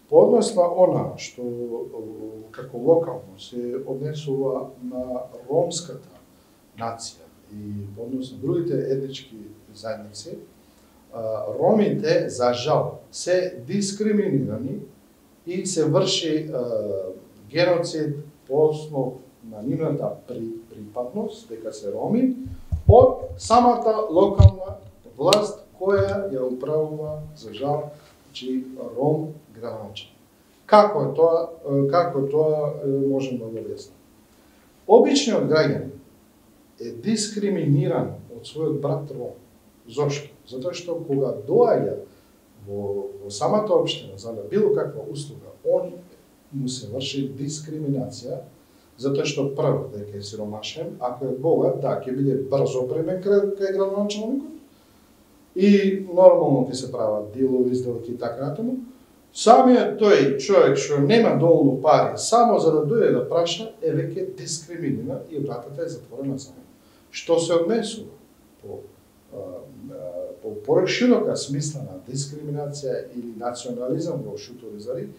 По однос на она што како локално се однесува на ромската нација и по однос на другите етнички заедници, ромите, за жал, се дискриминирани и се врши геноцид по основ на нивната припадност, дека се роми, од самата локална власт која ја управува, за жал, че ром градоначалник. Како е тоа, како е тоа можем да го објасниме? Обичниот граѓанин е дискриминиран од својот брат ром. Зошто? Затоа што кога доаѓа во, во самата општина за било каква услуга, он му се врши дискриминација, затоа што прво дека е сиромашен, ако е богат, да, ќе биде брзо премен кај градоначалникот, и нормално ќе се прават дилови, сделки и така натаму. Самиот тој човек што нема доволно пари само за да дојде да праша е веќе дискриминиран и вратата е затворена за него. Што се однесува по по пореширока смисла на дискриминација или национализам во Шуторизари,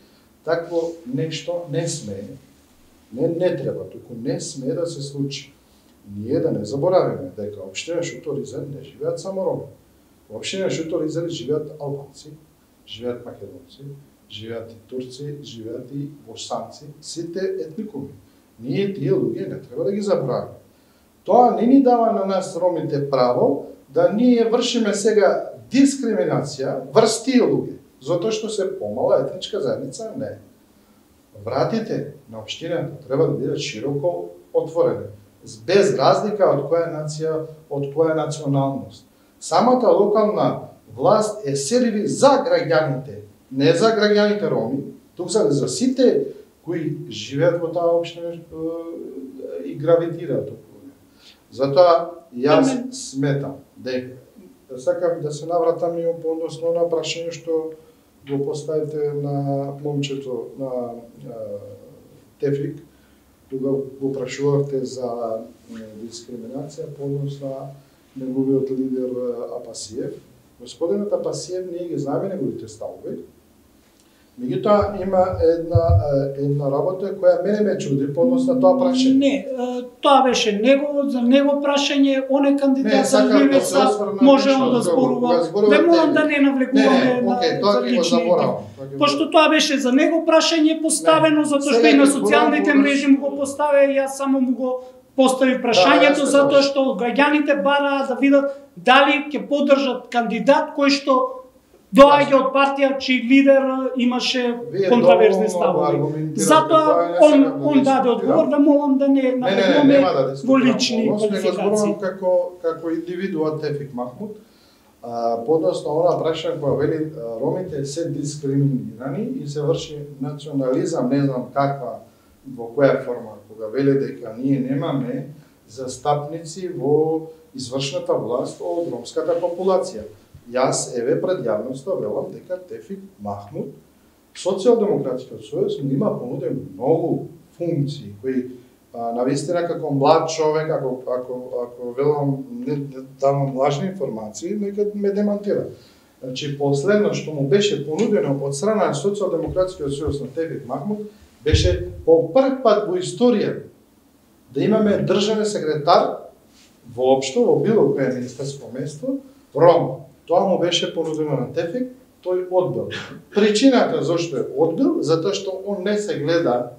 такво нешто не сме, не, не треба, туку не сме да се случи. Ние да не заборавиме дека општина Шуторизари не живеат само роми. Во општина Шуторизари живеат албанци, живеат македонци, живеат и турци, живеат и босанци, сите етникуми. Ние тие луѓе не треба да ги заборавиме. Тоа не ни дава на нас ромите право да ние вршиме сега дискриминација врз тие луѓе, затоа што се помала етничка заедница, не. Вратите на општината треба да бидат широко отворени, без разлика од која нација, од која националност. Самата локална власт е серви за граѓаните, не за граѓаните роми, тук се за сите кои живеат во таа општина и гравитираат околу неа. Затоа јас сметам дека сакам да се навратам и по односно на прашање што го поставите на момчето на Тефик, кога го прашувавте за дискриминација по однос на неговиот лидер Апасиев. Господинот Апасиев, ние ги знаеме неговите ставови Меѓутоа има една една работа која мене ме чуди по однос на тоа прашање. Не, тоа беше него за него прашање, он е кандидат за Ливица, може он да зборува. Не морам да не навлекуваме на за лични. Пошто тоа беше за него прашање поставено, затоа што и на социјалните мрежи му го поставя и јас само му го постави прашањето, затоа што граѓаните бараат да видат дали ќе поддржат кандидат кој што доаѓа од партија чиј лидер имаше контраверзни ставови. Затоа он он даде одговор, да молам да не навлекуваме во лични квалификации. Како како индивидуа Тефик Махмуд, подосно она прашање која вели ромите се дискриминирани и се врши национализам, не знам каква, во која форма, кога вели дека ние немаме застапници во извршната власт од ромската популација. Јас еве пред јавноста велам дека Тефик Махмуд, Социјалдемократскиот сојуз ми има понуден многу функции кои а, навистина како млад човек, ако ако ако велам не, не давам лажни информации, нека ме демантира. Значи последно што му беше понудено од страна на Социјалдемократскиот сојуз на Тефик Махмуд беше по прв пат во историја да имаме државен секретар воопшто во било кое министерско место Ром. Тоа му беше понудено на Тефик, тој одбил. Причината зашто е одбил, затоа што он не се гледа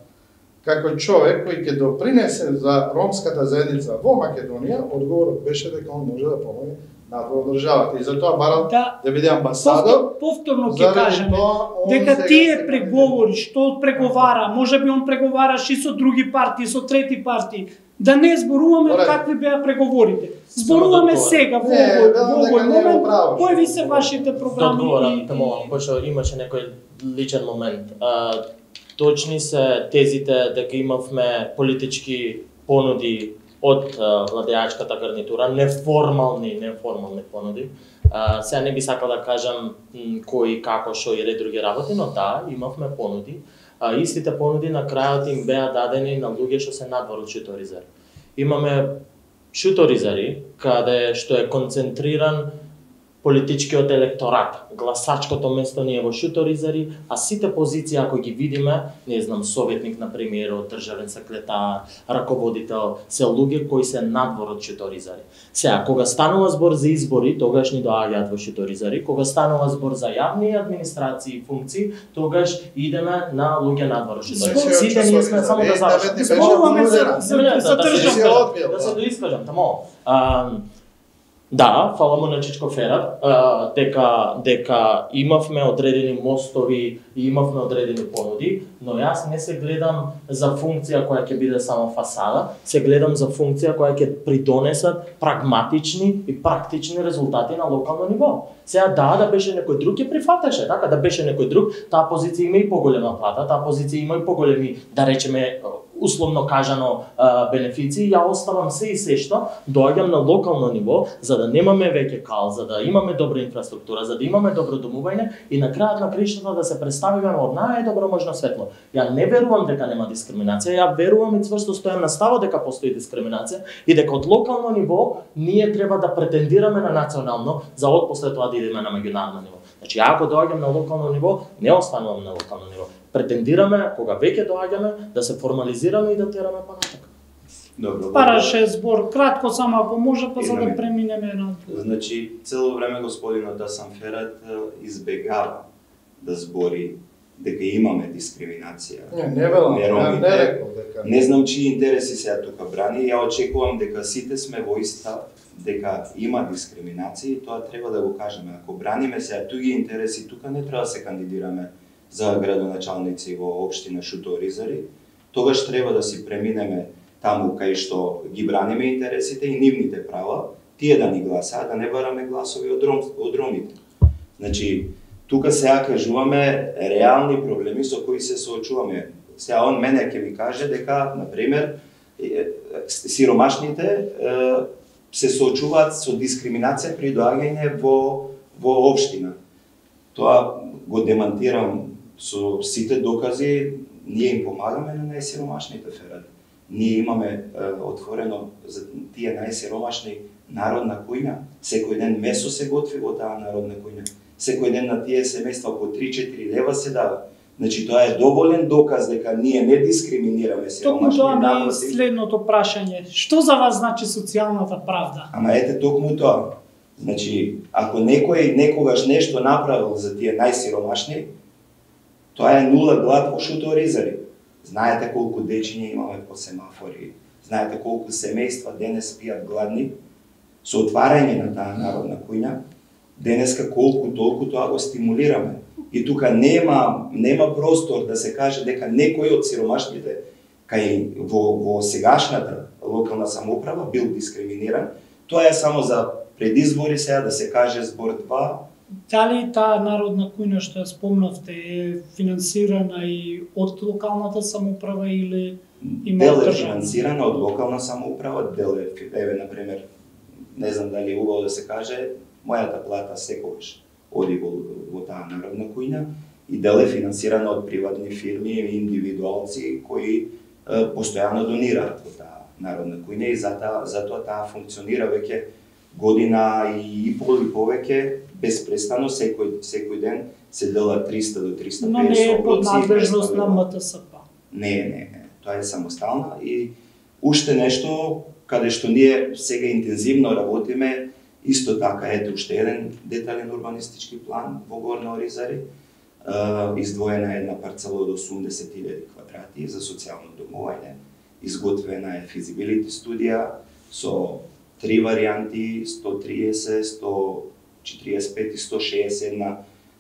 како човек кој ќе допринесе за ромската заедница во Македонија, одговорот беше дека он може да помогне на државата и затоа барал да, да биде амбасадор. Повторно ќе кажеме дека тие преговори што преговара, можеби он преговараше и со други партии, со трети партии. Да не зборуваме Оре. какви беа преговорите. Зборуваме сега во овој момент. Кои ви се вашите програми? Одговорам, тамо, пошто имаше некој личен момент. А, точни се тезите дека имавме политички понуди од владеачката гарнитура, неформални, неформални понуди. А, сега не би сакал да кажам кои, како, шо и ред други работи, но да, имавме понуди. А истите понуди на крајот им беа дадени на луѓе што се надвор од шуторизари. Имаме шуторизари каде што е концентриран политичкиот електорат. Гласачкото место не е во шуторизари, а сите позиции ако ги видиме, не знам, советник на премиерот, државен секретар, раководител, се луѓе кои се надвор од шуторизари. Сега, кога станува збор за избори, тогаш ни доаѓаат во шуторизари, кога станува збор за јавни администрации и функции, тогаш идеме на луѓе надвор од шуторизари. Сите ние сме само да завршиме. Зборуваме за држава. Да се доискажам, тамо. Да, фала му на Чичко Ферат, а, дека дека имавме одредени мостови и имавме одредени понуди, но јас не се гледам за функција која ќе биде само фасада, се гледам за функција која ќе придонесат прагматични и практични резултати на локално ниво. Сега да, да беше некој друг ќе прифатеше, така да беше некој друг, таа позиција има и поголема плата, таа позиција има и поголеми, да речеме, условно кажано бенефиции, ја оставам се и се што, доаѓам на локално ниво, за да немаме веќе кал, за да имаме добра инфраструктура, за да имаме добро домување и на крајот на краиштата да се представиме од најдобро можно светло. Ја не верувам дека нема дискриминација, ја верувам и цврсто стојам на ставот дека постои дискриминација и дека од локално ниво ние треба да претендираме на национално, за отпосле тоа да идеме на меѓународно ниво. Значи, ако доаѓам на локално ниво, не останувам на локално ниво. Претендираме, кога веќе доаѓаме, да се формализираме и да тераме понатака. Добро. Параше збор, кратко само ако може, па за да преминеме на... Значи, цело време господинот Асан Ферат избегава да збори дека имаме дискриминација. Не, не велам, не, не рекол дека. Не знам чии интереси сега тука брани, ја очекувам дека сите сме во ист став, дека има дискриминација и тоа треба да го кажеме. Ако браниме сега туги интереси, тука не треба да се кандидираме за градоначалници во општина Шуторизари, тогаш треба да си преминеме таму кај што ги браниме интересите и нивните права, тие да ни гласаат, да не бараме гласови од, ром, од ромите. Значи, тука сега кажуваме реални проблеми со кои се соочуваме. Сега он мене ќе ми каже дека, например, сиромашните се соочуваат со дискриминација при доаѓање во, во општина. Тоа го демантирам со сите докази, ние им помагаме на најсиромашните, Ферат. Ние имаме е, отворено за тие најсиромашни народна кујна. Секој ден месо се готви во таа народна кујна. Секој ден на тие семејства по три-четири лева се дава. Значи тоа е доволен доказ дека ние не дискриминираме Токму сиромашни тоа ми е напротив. следното прашање. Што за вас значи социјалната правда? Ама ете токму тоа. Значи, ако некој некогаш нешто направил за тие најсиромашни, тоа е нула глад во шуторизари. Знаете колку дечиња имаме по семафори, знаете колку семејства денес спијат гладни, со отварање на таа народна куња, денеска колку толку тоа го стимулираме. И тука нема нема простор да се каже дека некој од сиромашните кај во во сегашната локална самоуправа бил дискриминиран. Тоа е само за предизбори сега да се каже збор два. Дали таа народна кујна што ја спомнавте е финансирана и од локалната самоуправа или има Дел е државна? финансирана од локална самоуправа, дел е, еве, например, не знам дали е убаво да се каже, мојата плата секогаш оди во, во таа народна кујна и дел е финансирана од приватни фирми и индивидуалци кои е, постојано донираат во таа народна кујна и затоа затоа таа функционира веќе година и пол и повеќе безпрестанно секој секој ден се дела триста до триста и Но не педесет е под оброци. надлежност на М Т С П. Не, не, не. Тоа е самостална и уште нешто каде што ние сега интензивно работиме, исто така ете уште еден детален урбанистички план во Горна Оризари. Издвоена е една парцела од осумдесет илјади квадрати за социјално домување. Изготвена е физибилити студија со три варијанти, сто триесет, сто четириесет пет и сто шеесет една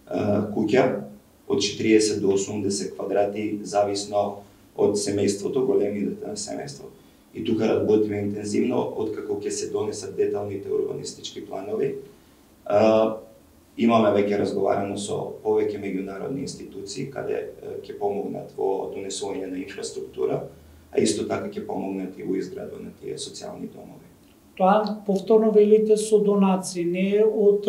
куќа од четириесет до осумдесет квадрати, зависно од семејството, големината на семејство. И тука работиме интензивно, откако ќе се донесат деталните урбанистички планови. А, имаме веќе разговарано со повеќе меѓународни институции, каде ќе помогнат во донесување на инфраструктура, а исто така ќе помогнат и во изградба на тие социјални домови. Тоа повторно велите со донации, не е од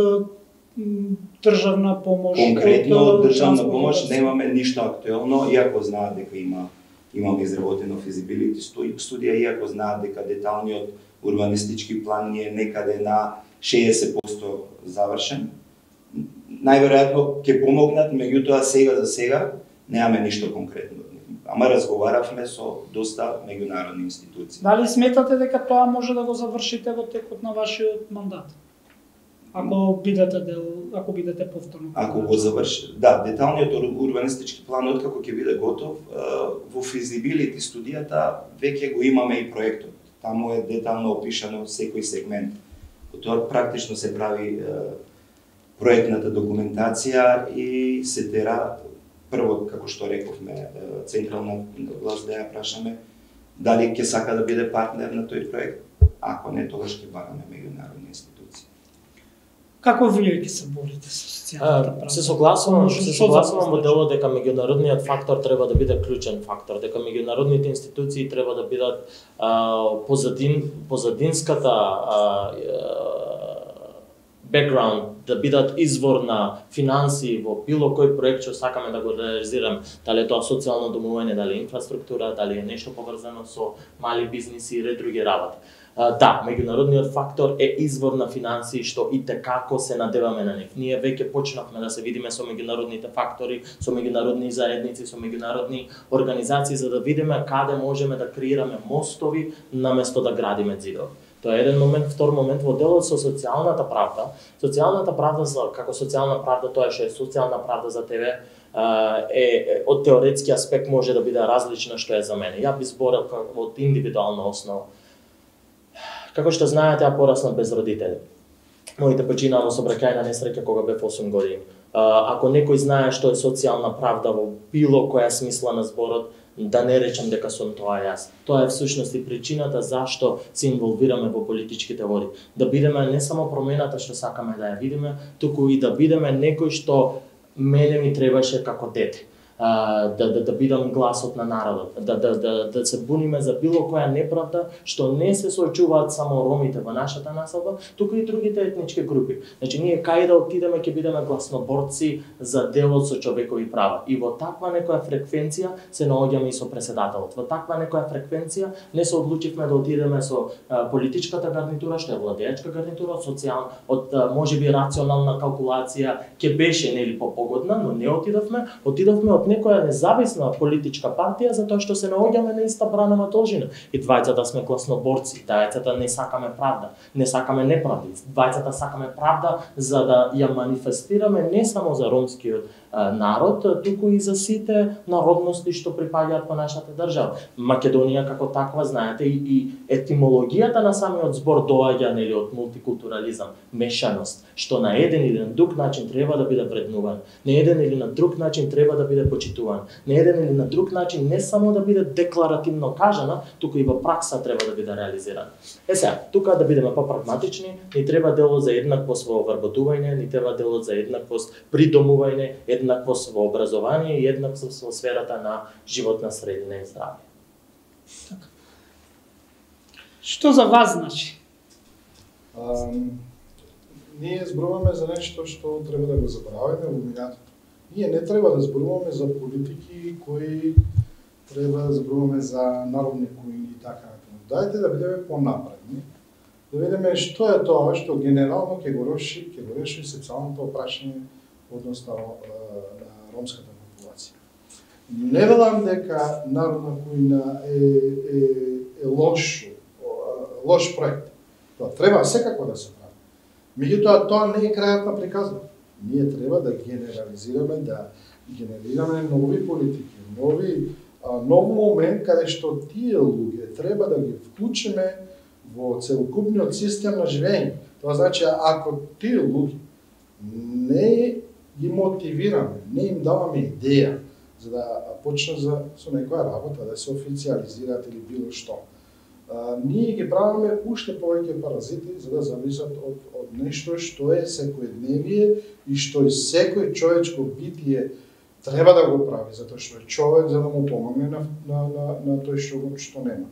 м, државна помош. Конкретно од државна транспортна помош врска. немаме ништо актуелно, иако знаат дека има имаме изработено физибилити студија, иако знаат дека деталниот урбанистички план ни е некаде на шеесет проценти завршен. Најверојатно ќе помогнат, меѓутоа сега за сега немаме ништо конкретно. Ама разговаравме со доста меѓународни институции. Дали сметате дека тоа може да го завршите во текот на вашиот мандат? Ако бидете дел, ако бидете повторно. Ако го заврши, да, деталниот урбанистички план откако ќе биде готов, во физибилити студијата веќе го имаме и проектот. Таму е детално опишано секој сегмент. Тоа практично се прави проектната документација и се тера прво, како што рековме, централна власт да ја прашаме дали ќе сака да биде партнер на тој проект. Ако не, тогаш ќе бараме меѓународни институции. Како вие ќе се борите со социјалната правда? Се согласувам, Што се за согласувам вас во делот дека меѓународниот фактор треба да биде клучен фактор, дека меѓународните институции треба да бидат а, позадин позадинската а, бекграунд, да бидат извор на финансии во било кој проект што сакаме да го реализираме, дали е тоа социјално домување, дали е инфраструктура, дали е нешто поврзано со мали бизниси и ред други работи. Uh, да, меѓународниот фактор е извор на финансии што и како се надеваме на нив. Ние веќе почнавме да се видиме со меѓународните фактори, со меѓународни заедници, со меѓународни организации за да видиме каде можеме да креираме мостови наместо да градиме зидови. Тоа е еден момент, втор момент во делот со социјалната правда. Социјалната правда како социјална правда, тоа што е социјална правда за тебе, е, е од теоретски аспект може да биде различна што е за мене. Ја би зборел од индивидуална основа. Како што знаете, ја пораснав без родители. Моите починаа во сообраќајна несреќа кога бев осум години. Ако некој знае што е социјална правда во било која смисла на зборот, да не речам дека сум тоа јас. Тоа е всушност и причината зашто се инволвираме во политичките води. Да бидеме не само промената што сакаме да ја видиме, туку и да бидеме некој што мене ми требаше како дете. Uh, да, да, да бидам гласот на народот, да, да, да, да се буниме за било која неправда што не се соочуваат само ромите во нашата населба, туку и другите етнички групи. Значи, ние кај да отидеме ќе бидеме гласноборци за делот со човекови права. И во таква некоја фреквенција се наоѓаме и со преседателот. Во таква некоја фреквенција не се одлучивме да отидеме со uh, политичката гарнитура, што е владеечка гарнитура, од социјална, од uh, можеби рационална калкулација ќе беше нели попогодна, но не отидовме, отидовме од некоја независна политичка партија затоа што се наоѓаме на иста бранова должина. И двајцата сме гласноборци, двајцата не сакаме правда, не сакаме неправди, двајцата сакаме правда за да ја манифестираме не само за ромскиот народ, туку и за сите народности што припаѓаат во нашата држава. Македонија како таква, знаете, и, и етимологијата на самиот збор доаѓа нели од мултикултурализам, мешаност, што на еден или на друг начин треба да биде вреднуван, на еден или на друг начин треба да биде почитуван, на еден или на друг начин не само да биде декларативно кажана, туку и во пракса треба да биде реализирана. Е сега, тука да бидеме попрагматични, ни треба дело за еднаквост во вработување, ни треба дело за еднаквост при домување, еднаквост во образование и еднаквост во сферата на животна средина и здравје. Така. Што за вас значи? Um, ние зборуваме за нешто што треба да го забораваме во минатото. Ние не треба да зборуваме за политики кои треба да зборуваме за народни кои и така натаму. Дајте да бидеме понапредни, да видиме што е тоа што генерално ќе го реши, ќе го реши социјалното прашање односно на ромската популација. Не велам дека народна кујна е, е, е лош, лош проект. Тоа треба секако да се прави. Меѓутоа, тоа не е крајот на приказната. Ние треба да генерализираме, да генерираме нови политики, нови, а, нов момент каде што тие луѓе треба да ги вклучиме во целокупниот систем на живење. Тоа значи, ако тие луѓе не ги мотивираме, не им даваме идеја за да почнат за, со некоја работа, да се официализираат или било што. А, ние ги правиме уште повеќе паразити за да зависат од, од нешто што е секојдневие и што и секој човечко битие треба да го прави, затоа што е човек за да му помогне на, на, на, на тој што, што нема.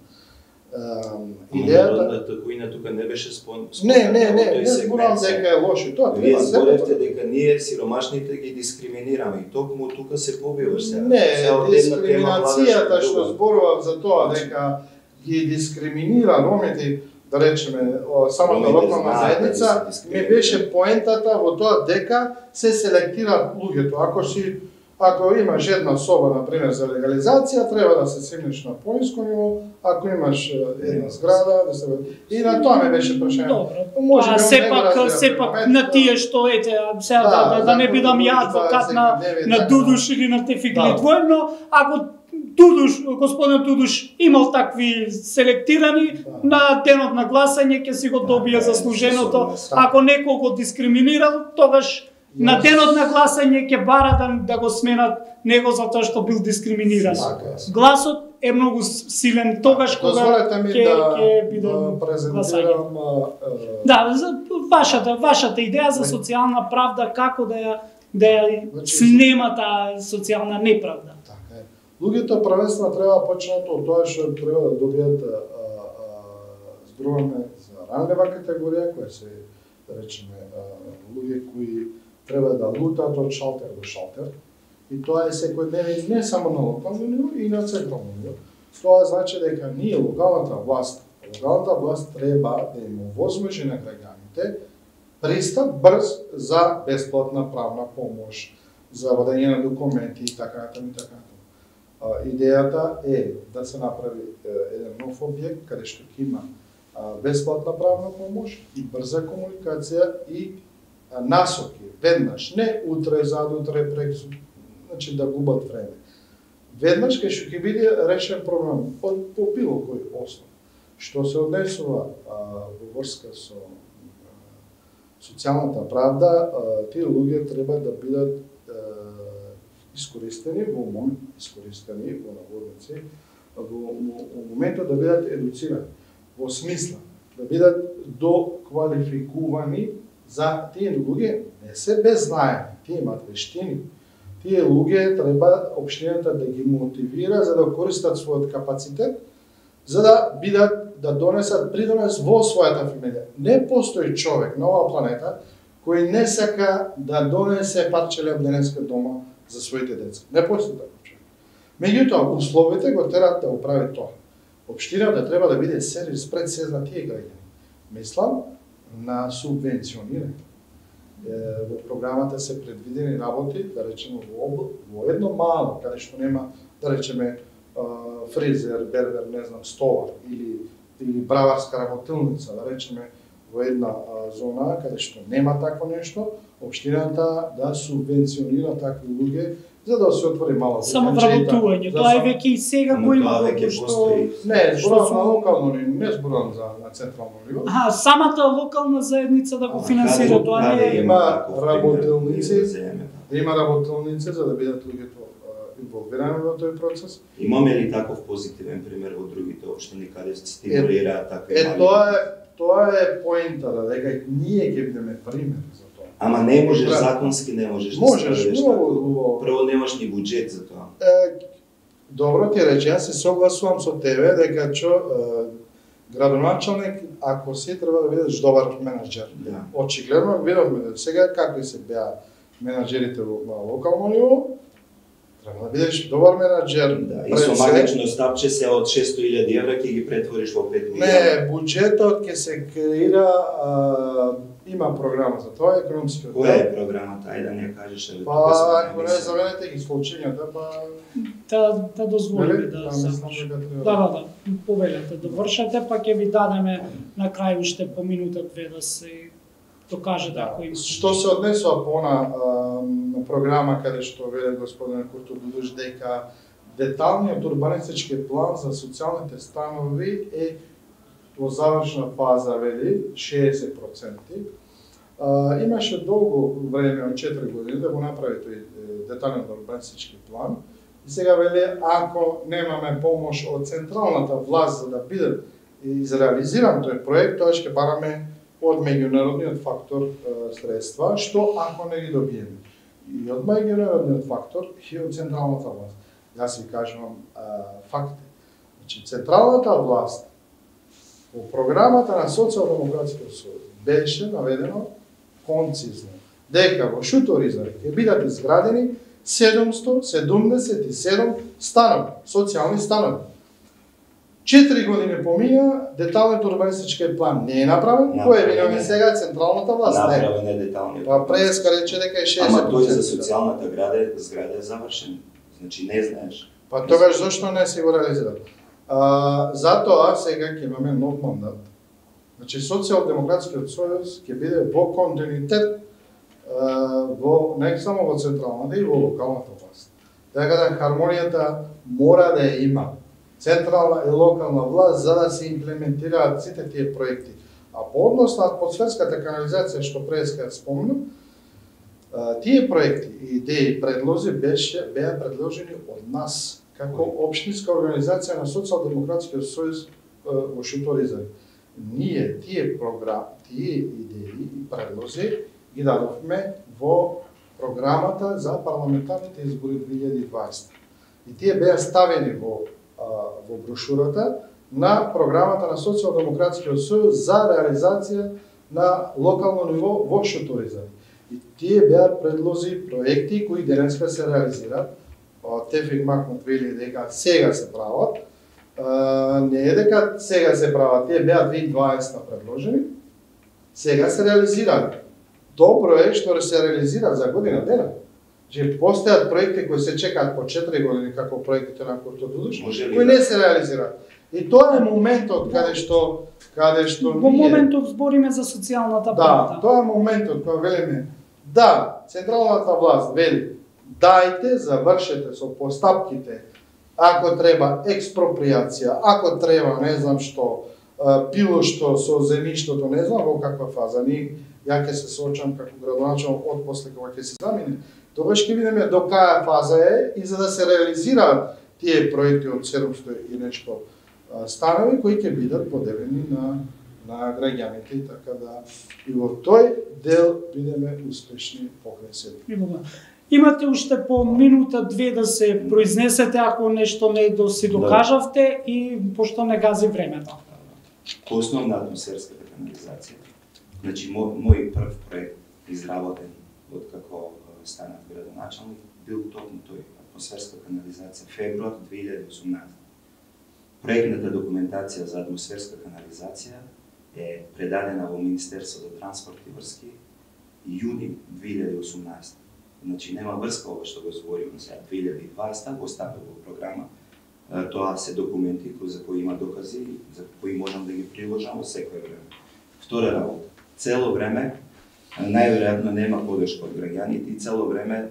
Uh, идејата народната кујна тука не беше спон... Не, не, не, не зборам дека е лошо. Тоа Вие треба зборевте дека ние сиромашните ги дискриминираме и токму тука се побиваш сега. Не, Сега од една тема дискриминацијата владаш што друга. зборував за тоа дека ги дискриминира ромите, да речеме, самата Ромите локална знаат да заедница, ги се ми дискриминира. беше поентата во тоа дека се селектираат луѓето. Ако си Ако имаш една соба, например, за легализација, треба да се симнеш на пониско ниво, ако имаш една зграда, да се... И на тоа ме беше прашање. Добро, Може а би сепак, он не го сепак разбира на моментот. тие што ете, сега да, да, да, не бидам ја адвокат на, на Дудуш или на Тефикли Да. двојно, ако Дудуш, господин Дудуш имал такви селектирани, Да. на денот на гласање ќе си го добие Да, заслуженото. да, Ако некој го дискриминирал, тогаш на денот на гласање ќе бара да, да го сменат него затоа што бил дискриминиран. Така е. Гласот е многу силен тогаш кога Дозволете ми ќе да, ќе биде да гласање. презентирам а, а, Да, за вашата вашата идеја за социјална правда, како да ја да ја Значи, снема таа социјална неправда. Така е. Луѓето првенствено треба да почнат од тоа што треба да добијат а, а, зборуваме за ранлива категорија, која се, да речеме, а, луѓе кои треба да лутаат од шалтер до шалтер. И тоа е секојдневно не само на локално ниво, и на централно ниво. Тоа значи дека ние, локалната власт, локалната власт треба да им овозможи на граѓаните пристап брз за бесплатна правна помош, за водење на документи и така натаму и така натаму. А, идејата е да се направи е, еден нов објект каде што ќе има а, бесплатна правна помош и брза комуникација и а, насоки веднаш, не утре, задутре, прексу, значи да губат време. Веднаш кај што ќе биде решен проблем од по било кој основ. Што се однесува а, во врска со а, социјалната правда, а, тие луѓе треба да бидат а, искористени во момент, искористени во наводници, во, во, во моментот да бидат едуцирани, во смисла да бидат доквалификувани за тие луѓе не се беззнаени, тие имаат вештини. Тие луѓе треба општината да ги мотивира за да користат својот капацитет, за да бидат да донесат придонес во својата фамилија. Не постои човек на оваа планета кој не сака да донесе парче леб денеска дома за своите деца. Не постои таков човек. Меѓутоа, условите го терат да оправи тоа. Општината треба да биде сервис пред се за тие граѓани. Мислам на субвенционирање. Во програмата се предвидени работи, да речеме во, во едно мало, каде што нема, да речеме, фризер, бербер, не знам, столар или или браварска работилница, да речеме, во една а, зона каде што нема такво нешто, општината да субвенционира такви луѓе за да се отвори мало. Само вработување, тоа е веќе и сега го има веќе што постои. Не, зборам на локално, не зборам за на централно ниво. Аха, самата локална заедница да го финансира тоа не е. Има работилници, да има работилници за да бидат луѓето инволвирани во тој процес. Имаме ли таков позитивен пример во другите општини каде се стимулираат такви Е, мали? тоа е тоа е поентата, дека ние ќе бидеме пример за тоа. Ама не можеш Треба. законски не можеш да Можеш, справиш многу тако. убаво. Прво немаш ни буџет за тоа. Е, добро ти рече, јас се согласувам со тебе дека чо е, градоначалник, ако си треба да бидеш добар менаџер. Да. Очигледно видовме да сега какви се беа менаџерите во локално ниво, треба да бидеш добар менаџер. Да, и Пред со се- магично стапче се од шесто илјади евра ќе ги претвориш во пет милиони. Не, буџетот ќе се креира, а, има програма за тоа, економскиот. Која е програмата? Ајде да не ја кажеш. Али Па, ако не заменете ги случањата, па... Да, да дозволиме Нели? да Па, завршиме. мислам дека Да, треба. да, да, повелете да вршете, па ќе ви дадеме на крај уште по минута две да се докаже Да. ако има. Што се однесува по на, на програма каде што веле господин Курто Дудуш дека деталниот урбанистички план за социјалните станови е во завршна фаза, вели, шеесет проценти. А, имаше долго време, од четири години, да го направи тој е, деталниот урбанистички план. И сега вели, ако немаме помош од централната власт за да биде изреализиран тој проект, тоа ќе бараме од меѓународниот фактор е, средства, што ако не ги добиеме. И од меѓународниот фактор и од централната власт. Јас ви кажувам е, факти. Значи, централната власт во програмата на Социјалдемократскиот сојуз беше наведено концизно дека во Шуторизар ќе бидат изградени седумсто седумдесет и седум станови, социјални станови. Четири години помина, деталниот урбанистички план не е направен, кој е виновен сега централната власт? Не. Направен е деталниот. Па преска рече дека е шеесет проценти. Ама тој за социјалната града, зграда е завршен. Значи не знаеш. Па тогаш зошто не се го реализира? А, затоа сега ќе имаме нов мандат. Значи Социјалдемократскиот сојуз ќе биде во континуитет а, во не само во централната и во локалната власт. Така да хармонијата мора да ја има централна и локална власт за да се имплементираат сите тие проекти. А по однос на атмосферската канализација што преска ја спомнам, тие проекти, идеи, предлози беше беа предложени од нас како општинска организација на Социјалдемократскиот сојуз во Шуторизар. Ние тие програми, тие идеи и предлози ги дадовме во програмата за парламентарните избори две илјади и дваесета. И тие беа ставени во во брошурата на програмата на Социјалдемократскиот сојуз за реализација на локално ниво во Шуторизар. И тие беа предлози, проекти кои денеска се реализираат. Тефик Макмут вели дека сега се прават. Не е дека сега се прават, тие беа две илјади и дваесета предложени. Сега се реализираат. Добро е што се реализираат за година дена. Че постојат проекти кои се чекаат по четири години како проектите на Курто Дудуш, кои не се реализираат. И тоа е моментот каде што каде што Во моментов збориме за социјалната Да, правда. тоа е моментот кога велиме да, централната власт вели дајте, завршете со постапките, ако треба експроприација, ако треба не знам што, било што со земјиштото, не знам во каква фаза, ни ја ќе се соочам како градоначалник од после кога ќе се замине, тогаш ќе видиме до каја фаза е и за да се реализираат тие проекти од седумсто и нешто станови кои ќе бидат поделени на на граѓаните и така да и во тој дел бидеме успешни покрај себе. Имате уште по минута две да се произнесете ако нешто не до си докажавте и пошто не гази времето. По основна атмосферската канализација. Значи мој, мој прв проект изработен откако станав градоначалник бил токму тој атмосферска канализација февруар две илјади и осумнаесета. Проектната документација за атмосферска канализација е предадена во Министерство за транспорт и врски јуни две илјади и осумнаесета. Значи нема врска ова што го збориме сега две илјади и дваесета, го стави во програма. Тоа се документи за кои има докази, за кои можам да ги приложам во секое време. Втора работа. Цело време најверојатно нема подршка од граѓаните и цело време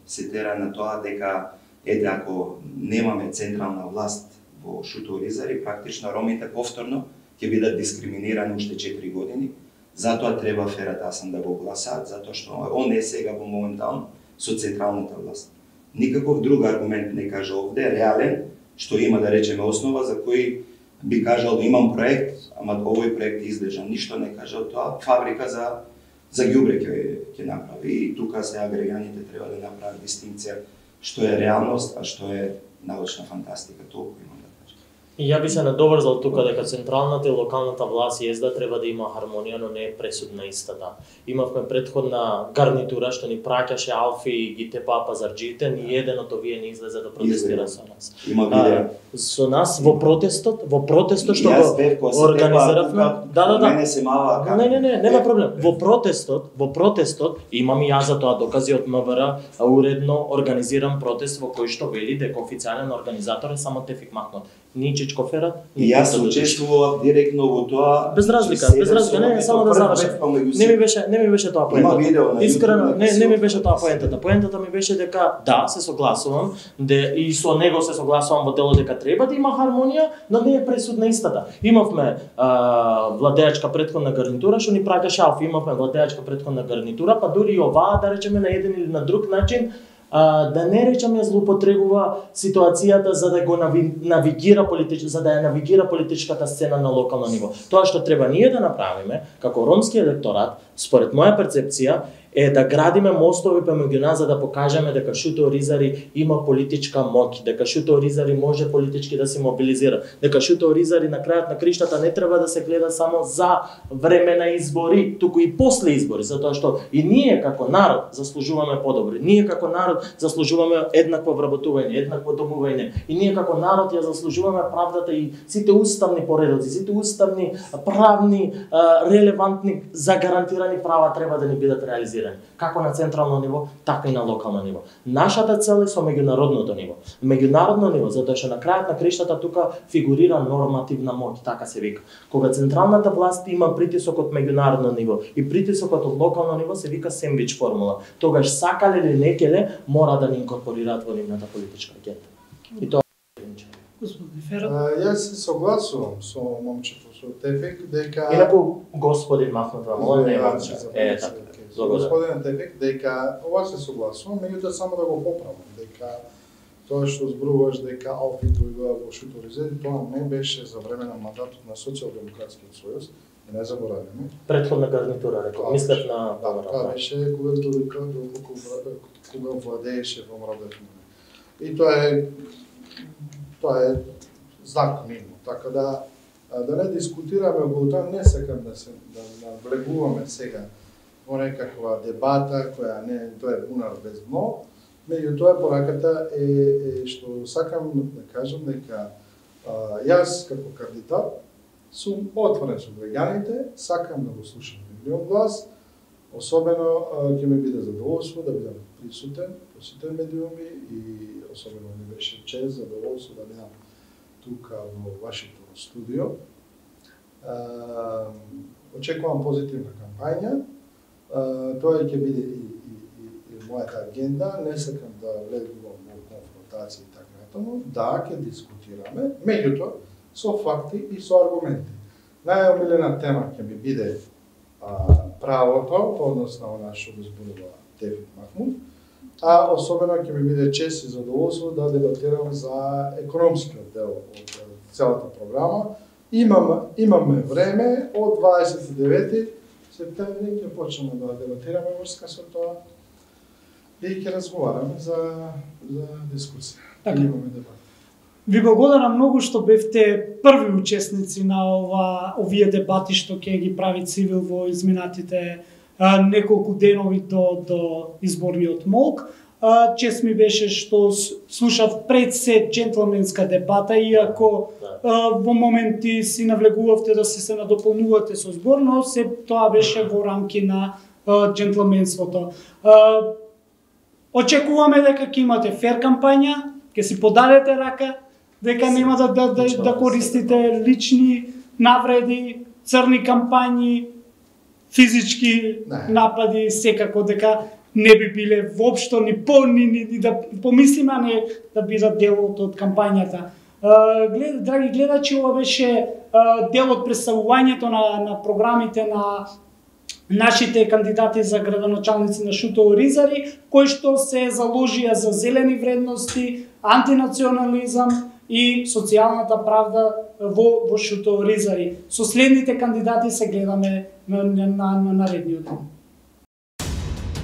се тера на тоа дека ете ако немаме централна власт во Шутово-Ризари, практично ромите повторно ќе бидат дискриминирани уште четири години. Затоа треба Ферат Асан да го гласаат, затоа што он е сега во моментално со централната власт. Никаков друг аргумент не кажа овде, реален, што има да речеме основа за кој би кажал имам проект, ама овој проект е излежан. Ништо не кажа тоа, фабрика за за ѓубре ќе ќе направи и тука сега граѓаните треба да направат дистинкција што е реалност, а што е научна фантастика, толку имам да кажам. И ја би се надоврзал тука дека централната и локалната власт езда треба да има хармонија, но не е пресудна истата. Имавме претходна гарнитура што ни праќаше Алфи и ги тепаа пазарџиите, ни еден од овие не излезе да протестира со нас. Има видео. Со нас во протестот, во протестот што го организиравме, да, да, да. Мене се мава. Не, не, не, нема проблем. Во протестот, во протестот имам и јас за тоа докази од МВР, уредно организиран протест во кој што вели дека официјален организатор е само Тефик Махмуд. Ни Чичко Ферат, ни и јас учествував директно во тоа. Без разлика, без разлика, не, само да завршам. Не ми беше, не ми беше тоа поентата. Искрено, не, не ми беше тоа поентата. Поентата ми беше дека да, се согласувам, де и со него се согласувам во дело дека треба да има хармонија, но не е пресудна истата. Имавме а, владеачка претходна гарнитура што ни праќаше Алфи, имавме владеачка претходна гарнитура, па дури и оваа да речеме на еден или на друг начин а, да не речеме злоупотребува ситуацијата за да го навигира политич, за да ја навигира политичката сцена на локално ниво. Тоа што треба ние да направиме како ромски електорат, според моја перцепција, е да градиме мостови помеѓу нас за да покажеме дека Шутово-Ризари има политичка моќ, дека Шутово-Ризари може политички да се мобилизира, дека Шутово-Ризари на крајот на криштата не треба да се гледа само за време на избори, туку и после избори, затоа што и ние како народ заслужуваме подобри. Ние како народ заслужуваме еднакво вработување, еднакво домување. И ние како народ ја заслужуваме правдата и сите уставни поредоци, сите уставни правни релевантни загарантирани права треба да ни бидат реализирани. Како на централно ниво, така и на локално ниво. Нашата цел е со меѓународното ниво. Меѓународно ниво, затоа што на крајот на криштата тука фигурира нормативна моќ, така се вика. Кога централната власт има притисок од меѓународно ниво и притисокот од локално ниво се вика сендвич формула. Тогаш сакале или некеле мора да ни инкорпорираат во нивната политичка агенда. И тоа Господин Ферат. Јас се согласувам со момчето со Тефик дека Инаку господин Махмуд Рамон не е е така. Господин Тефик дека ова се согласувам, меѓутоа само да го поправам дека тоа што зборуваш дека Алфи дојдоа во Шутово-Ризари, тоа не беше за време на мандатот на Социјалдемократскиот сојуз, и не забораваме. Претходна гарнитура, рекол, мислев на да, тоа беше кога додека кога владееше во Мрадев. И тоа е тоа е знак мимо, така да да не дискутираме околу тоа, не сакам да се да навлегуваме сега во некаква дебата која не тоа е бунар без дно, меѓутоа пораката е, е што сакам да кажам дека а, јас како кандидат сум отворен со граѓаните, сакам да го слушам нивниот глас, особено ќе ми биде задоволство да бидам присутен во сите медиуми и особено ми беше чест, задоволство да бидам тука во вашето студио. А, очекувам позитивна кампања. Uh, тоа ќе биде и, и, и, и мојата агенда, не сакам да влегувам во конфронтација и така натаму, да, ќе дискутираме, меѓутоа со факти и со аргументи. Најомилена тема ќе ми биде а, правото, односно она што го зборува Тефик Махмуд, а особено ќе ми биде чест и задоволство да дебатирам за економскиот дел од целата програма. Имам, имаме време од дваесет и девети септември ќе почнеме да дебатираме врска со тоа и ќе разговараме за за дискусија. Така. Имаме дебат. Ви благодарам многу што бевте први учесници на ова овие дебати што ќе ги прави Цивил во изминатите а, неколку денови до до изборниот молк. А, чест ми беше што слушав пред се джентлменска дебата, иако а, во моменти си навлегувавте да се се надополнувате со збор, но се тоа беше во рамки на джентлменството. Очекуваме дека ќе имате фер кампања, ќе си подадете рака, дека нема да, да, да, да користите лични навреди, црни кампањи, физички не. напади, секако дека не би биле воопшто ни по ни, ни, ни да помислиме, а не да бидат дел од кампањата. Глед, драги гледачи, ова беше дел од представувањето на, на програмите на нашите кандидати за градоначалници на Шутово Ризари, кои што се заложија за зелени вредности, антинационализам и социјалната правда во, во Шутово Ризари. Со следните кандидати се гледаме на, на, на, на наредниот ден.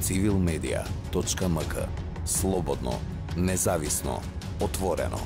цивилмедија точка ем ка. Слободно, независно, отворено.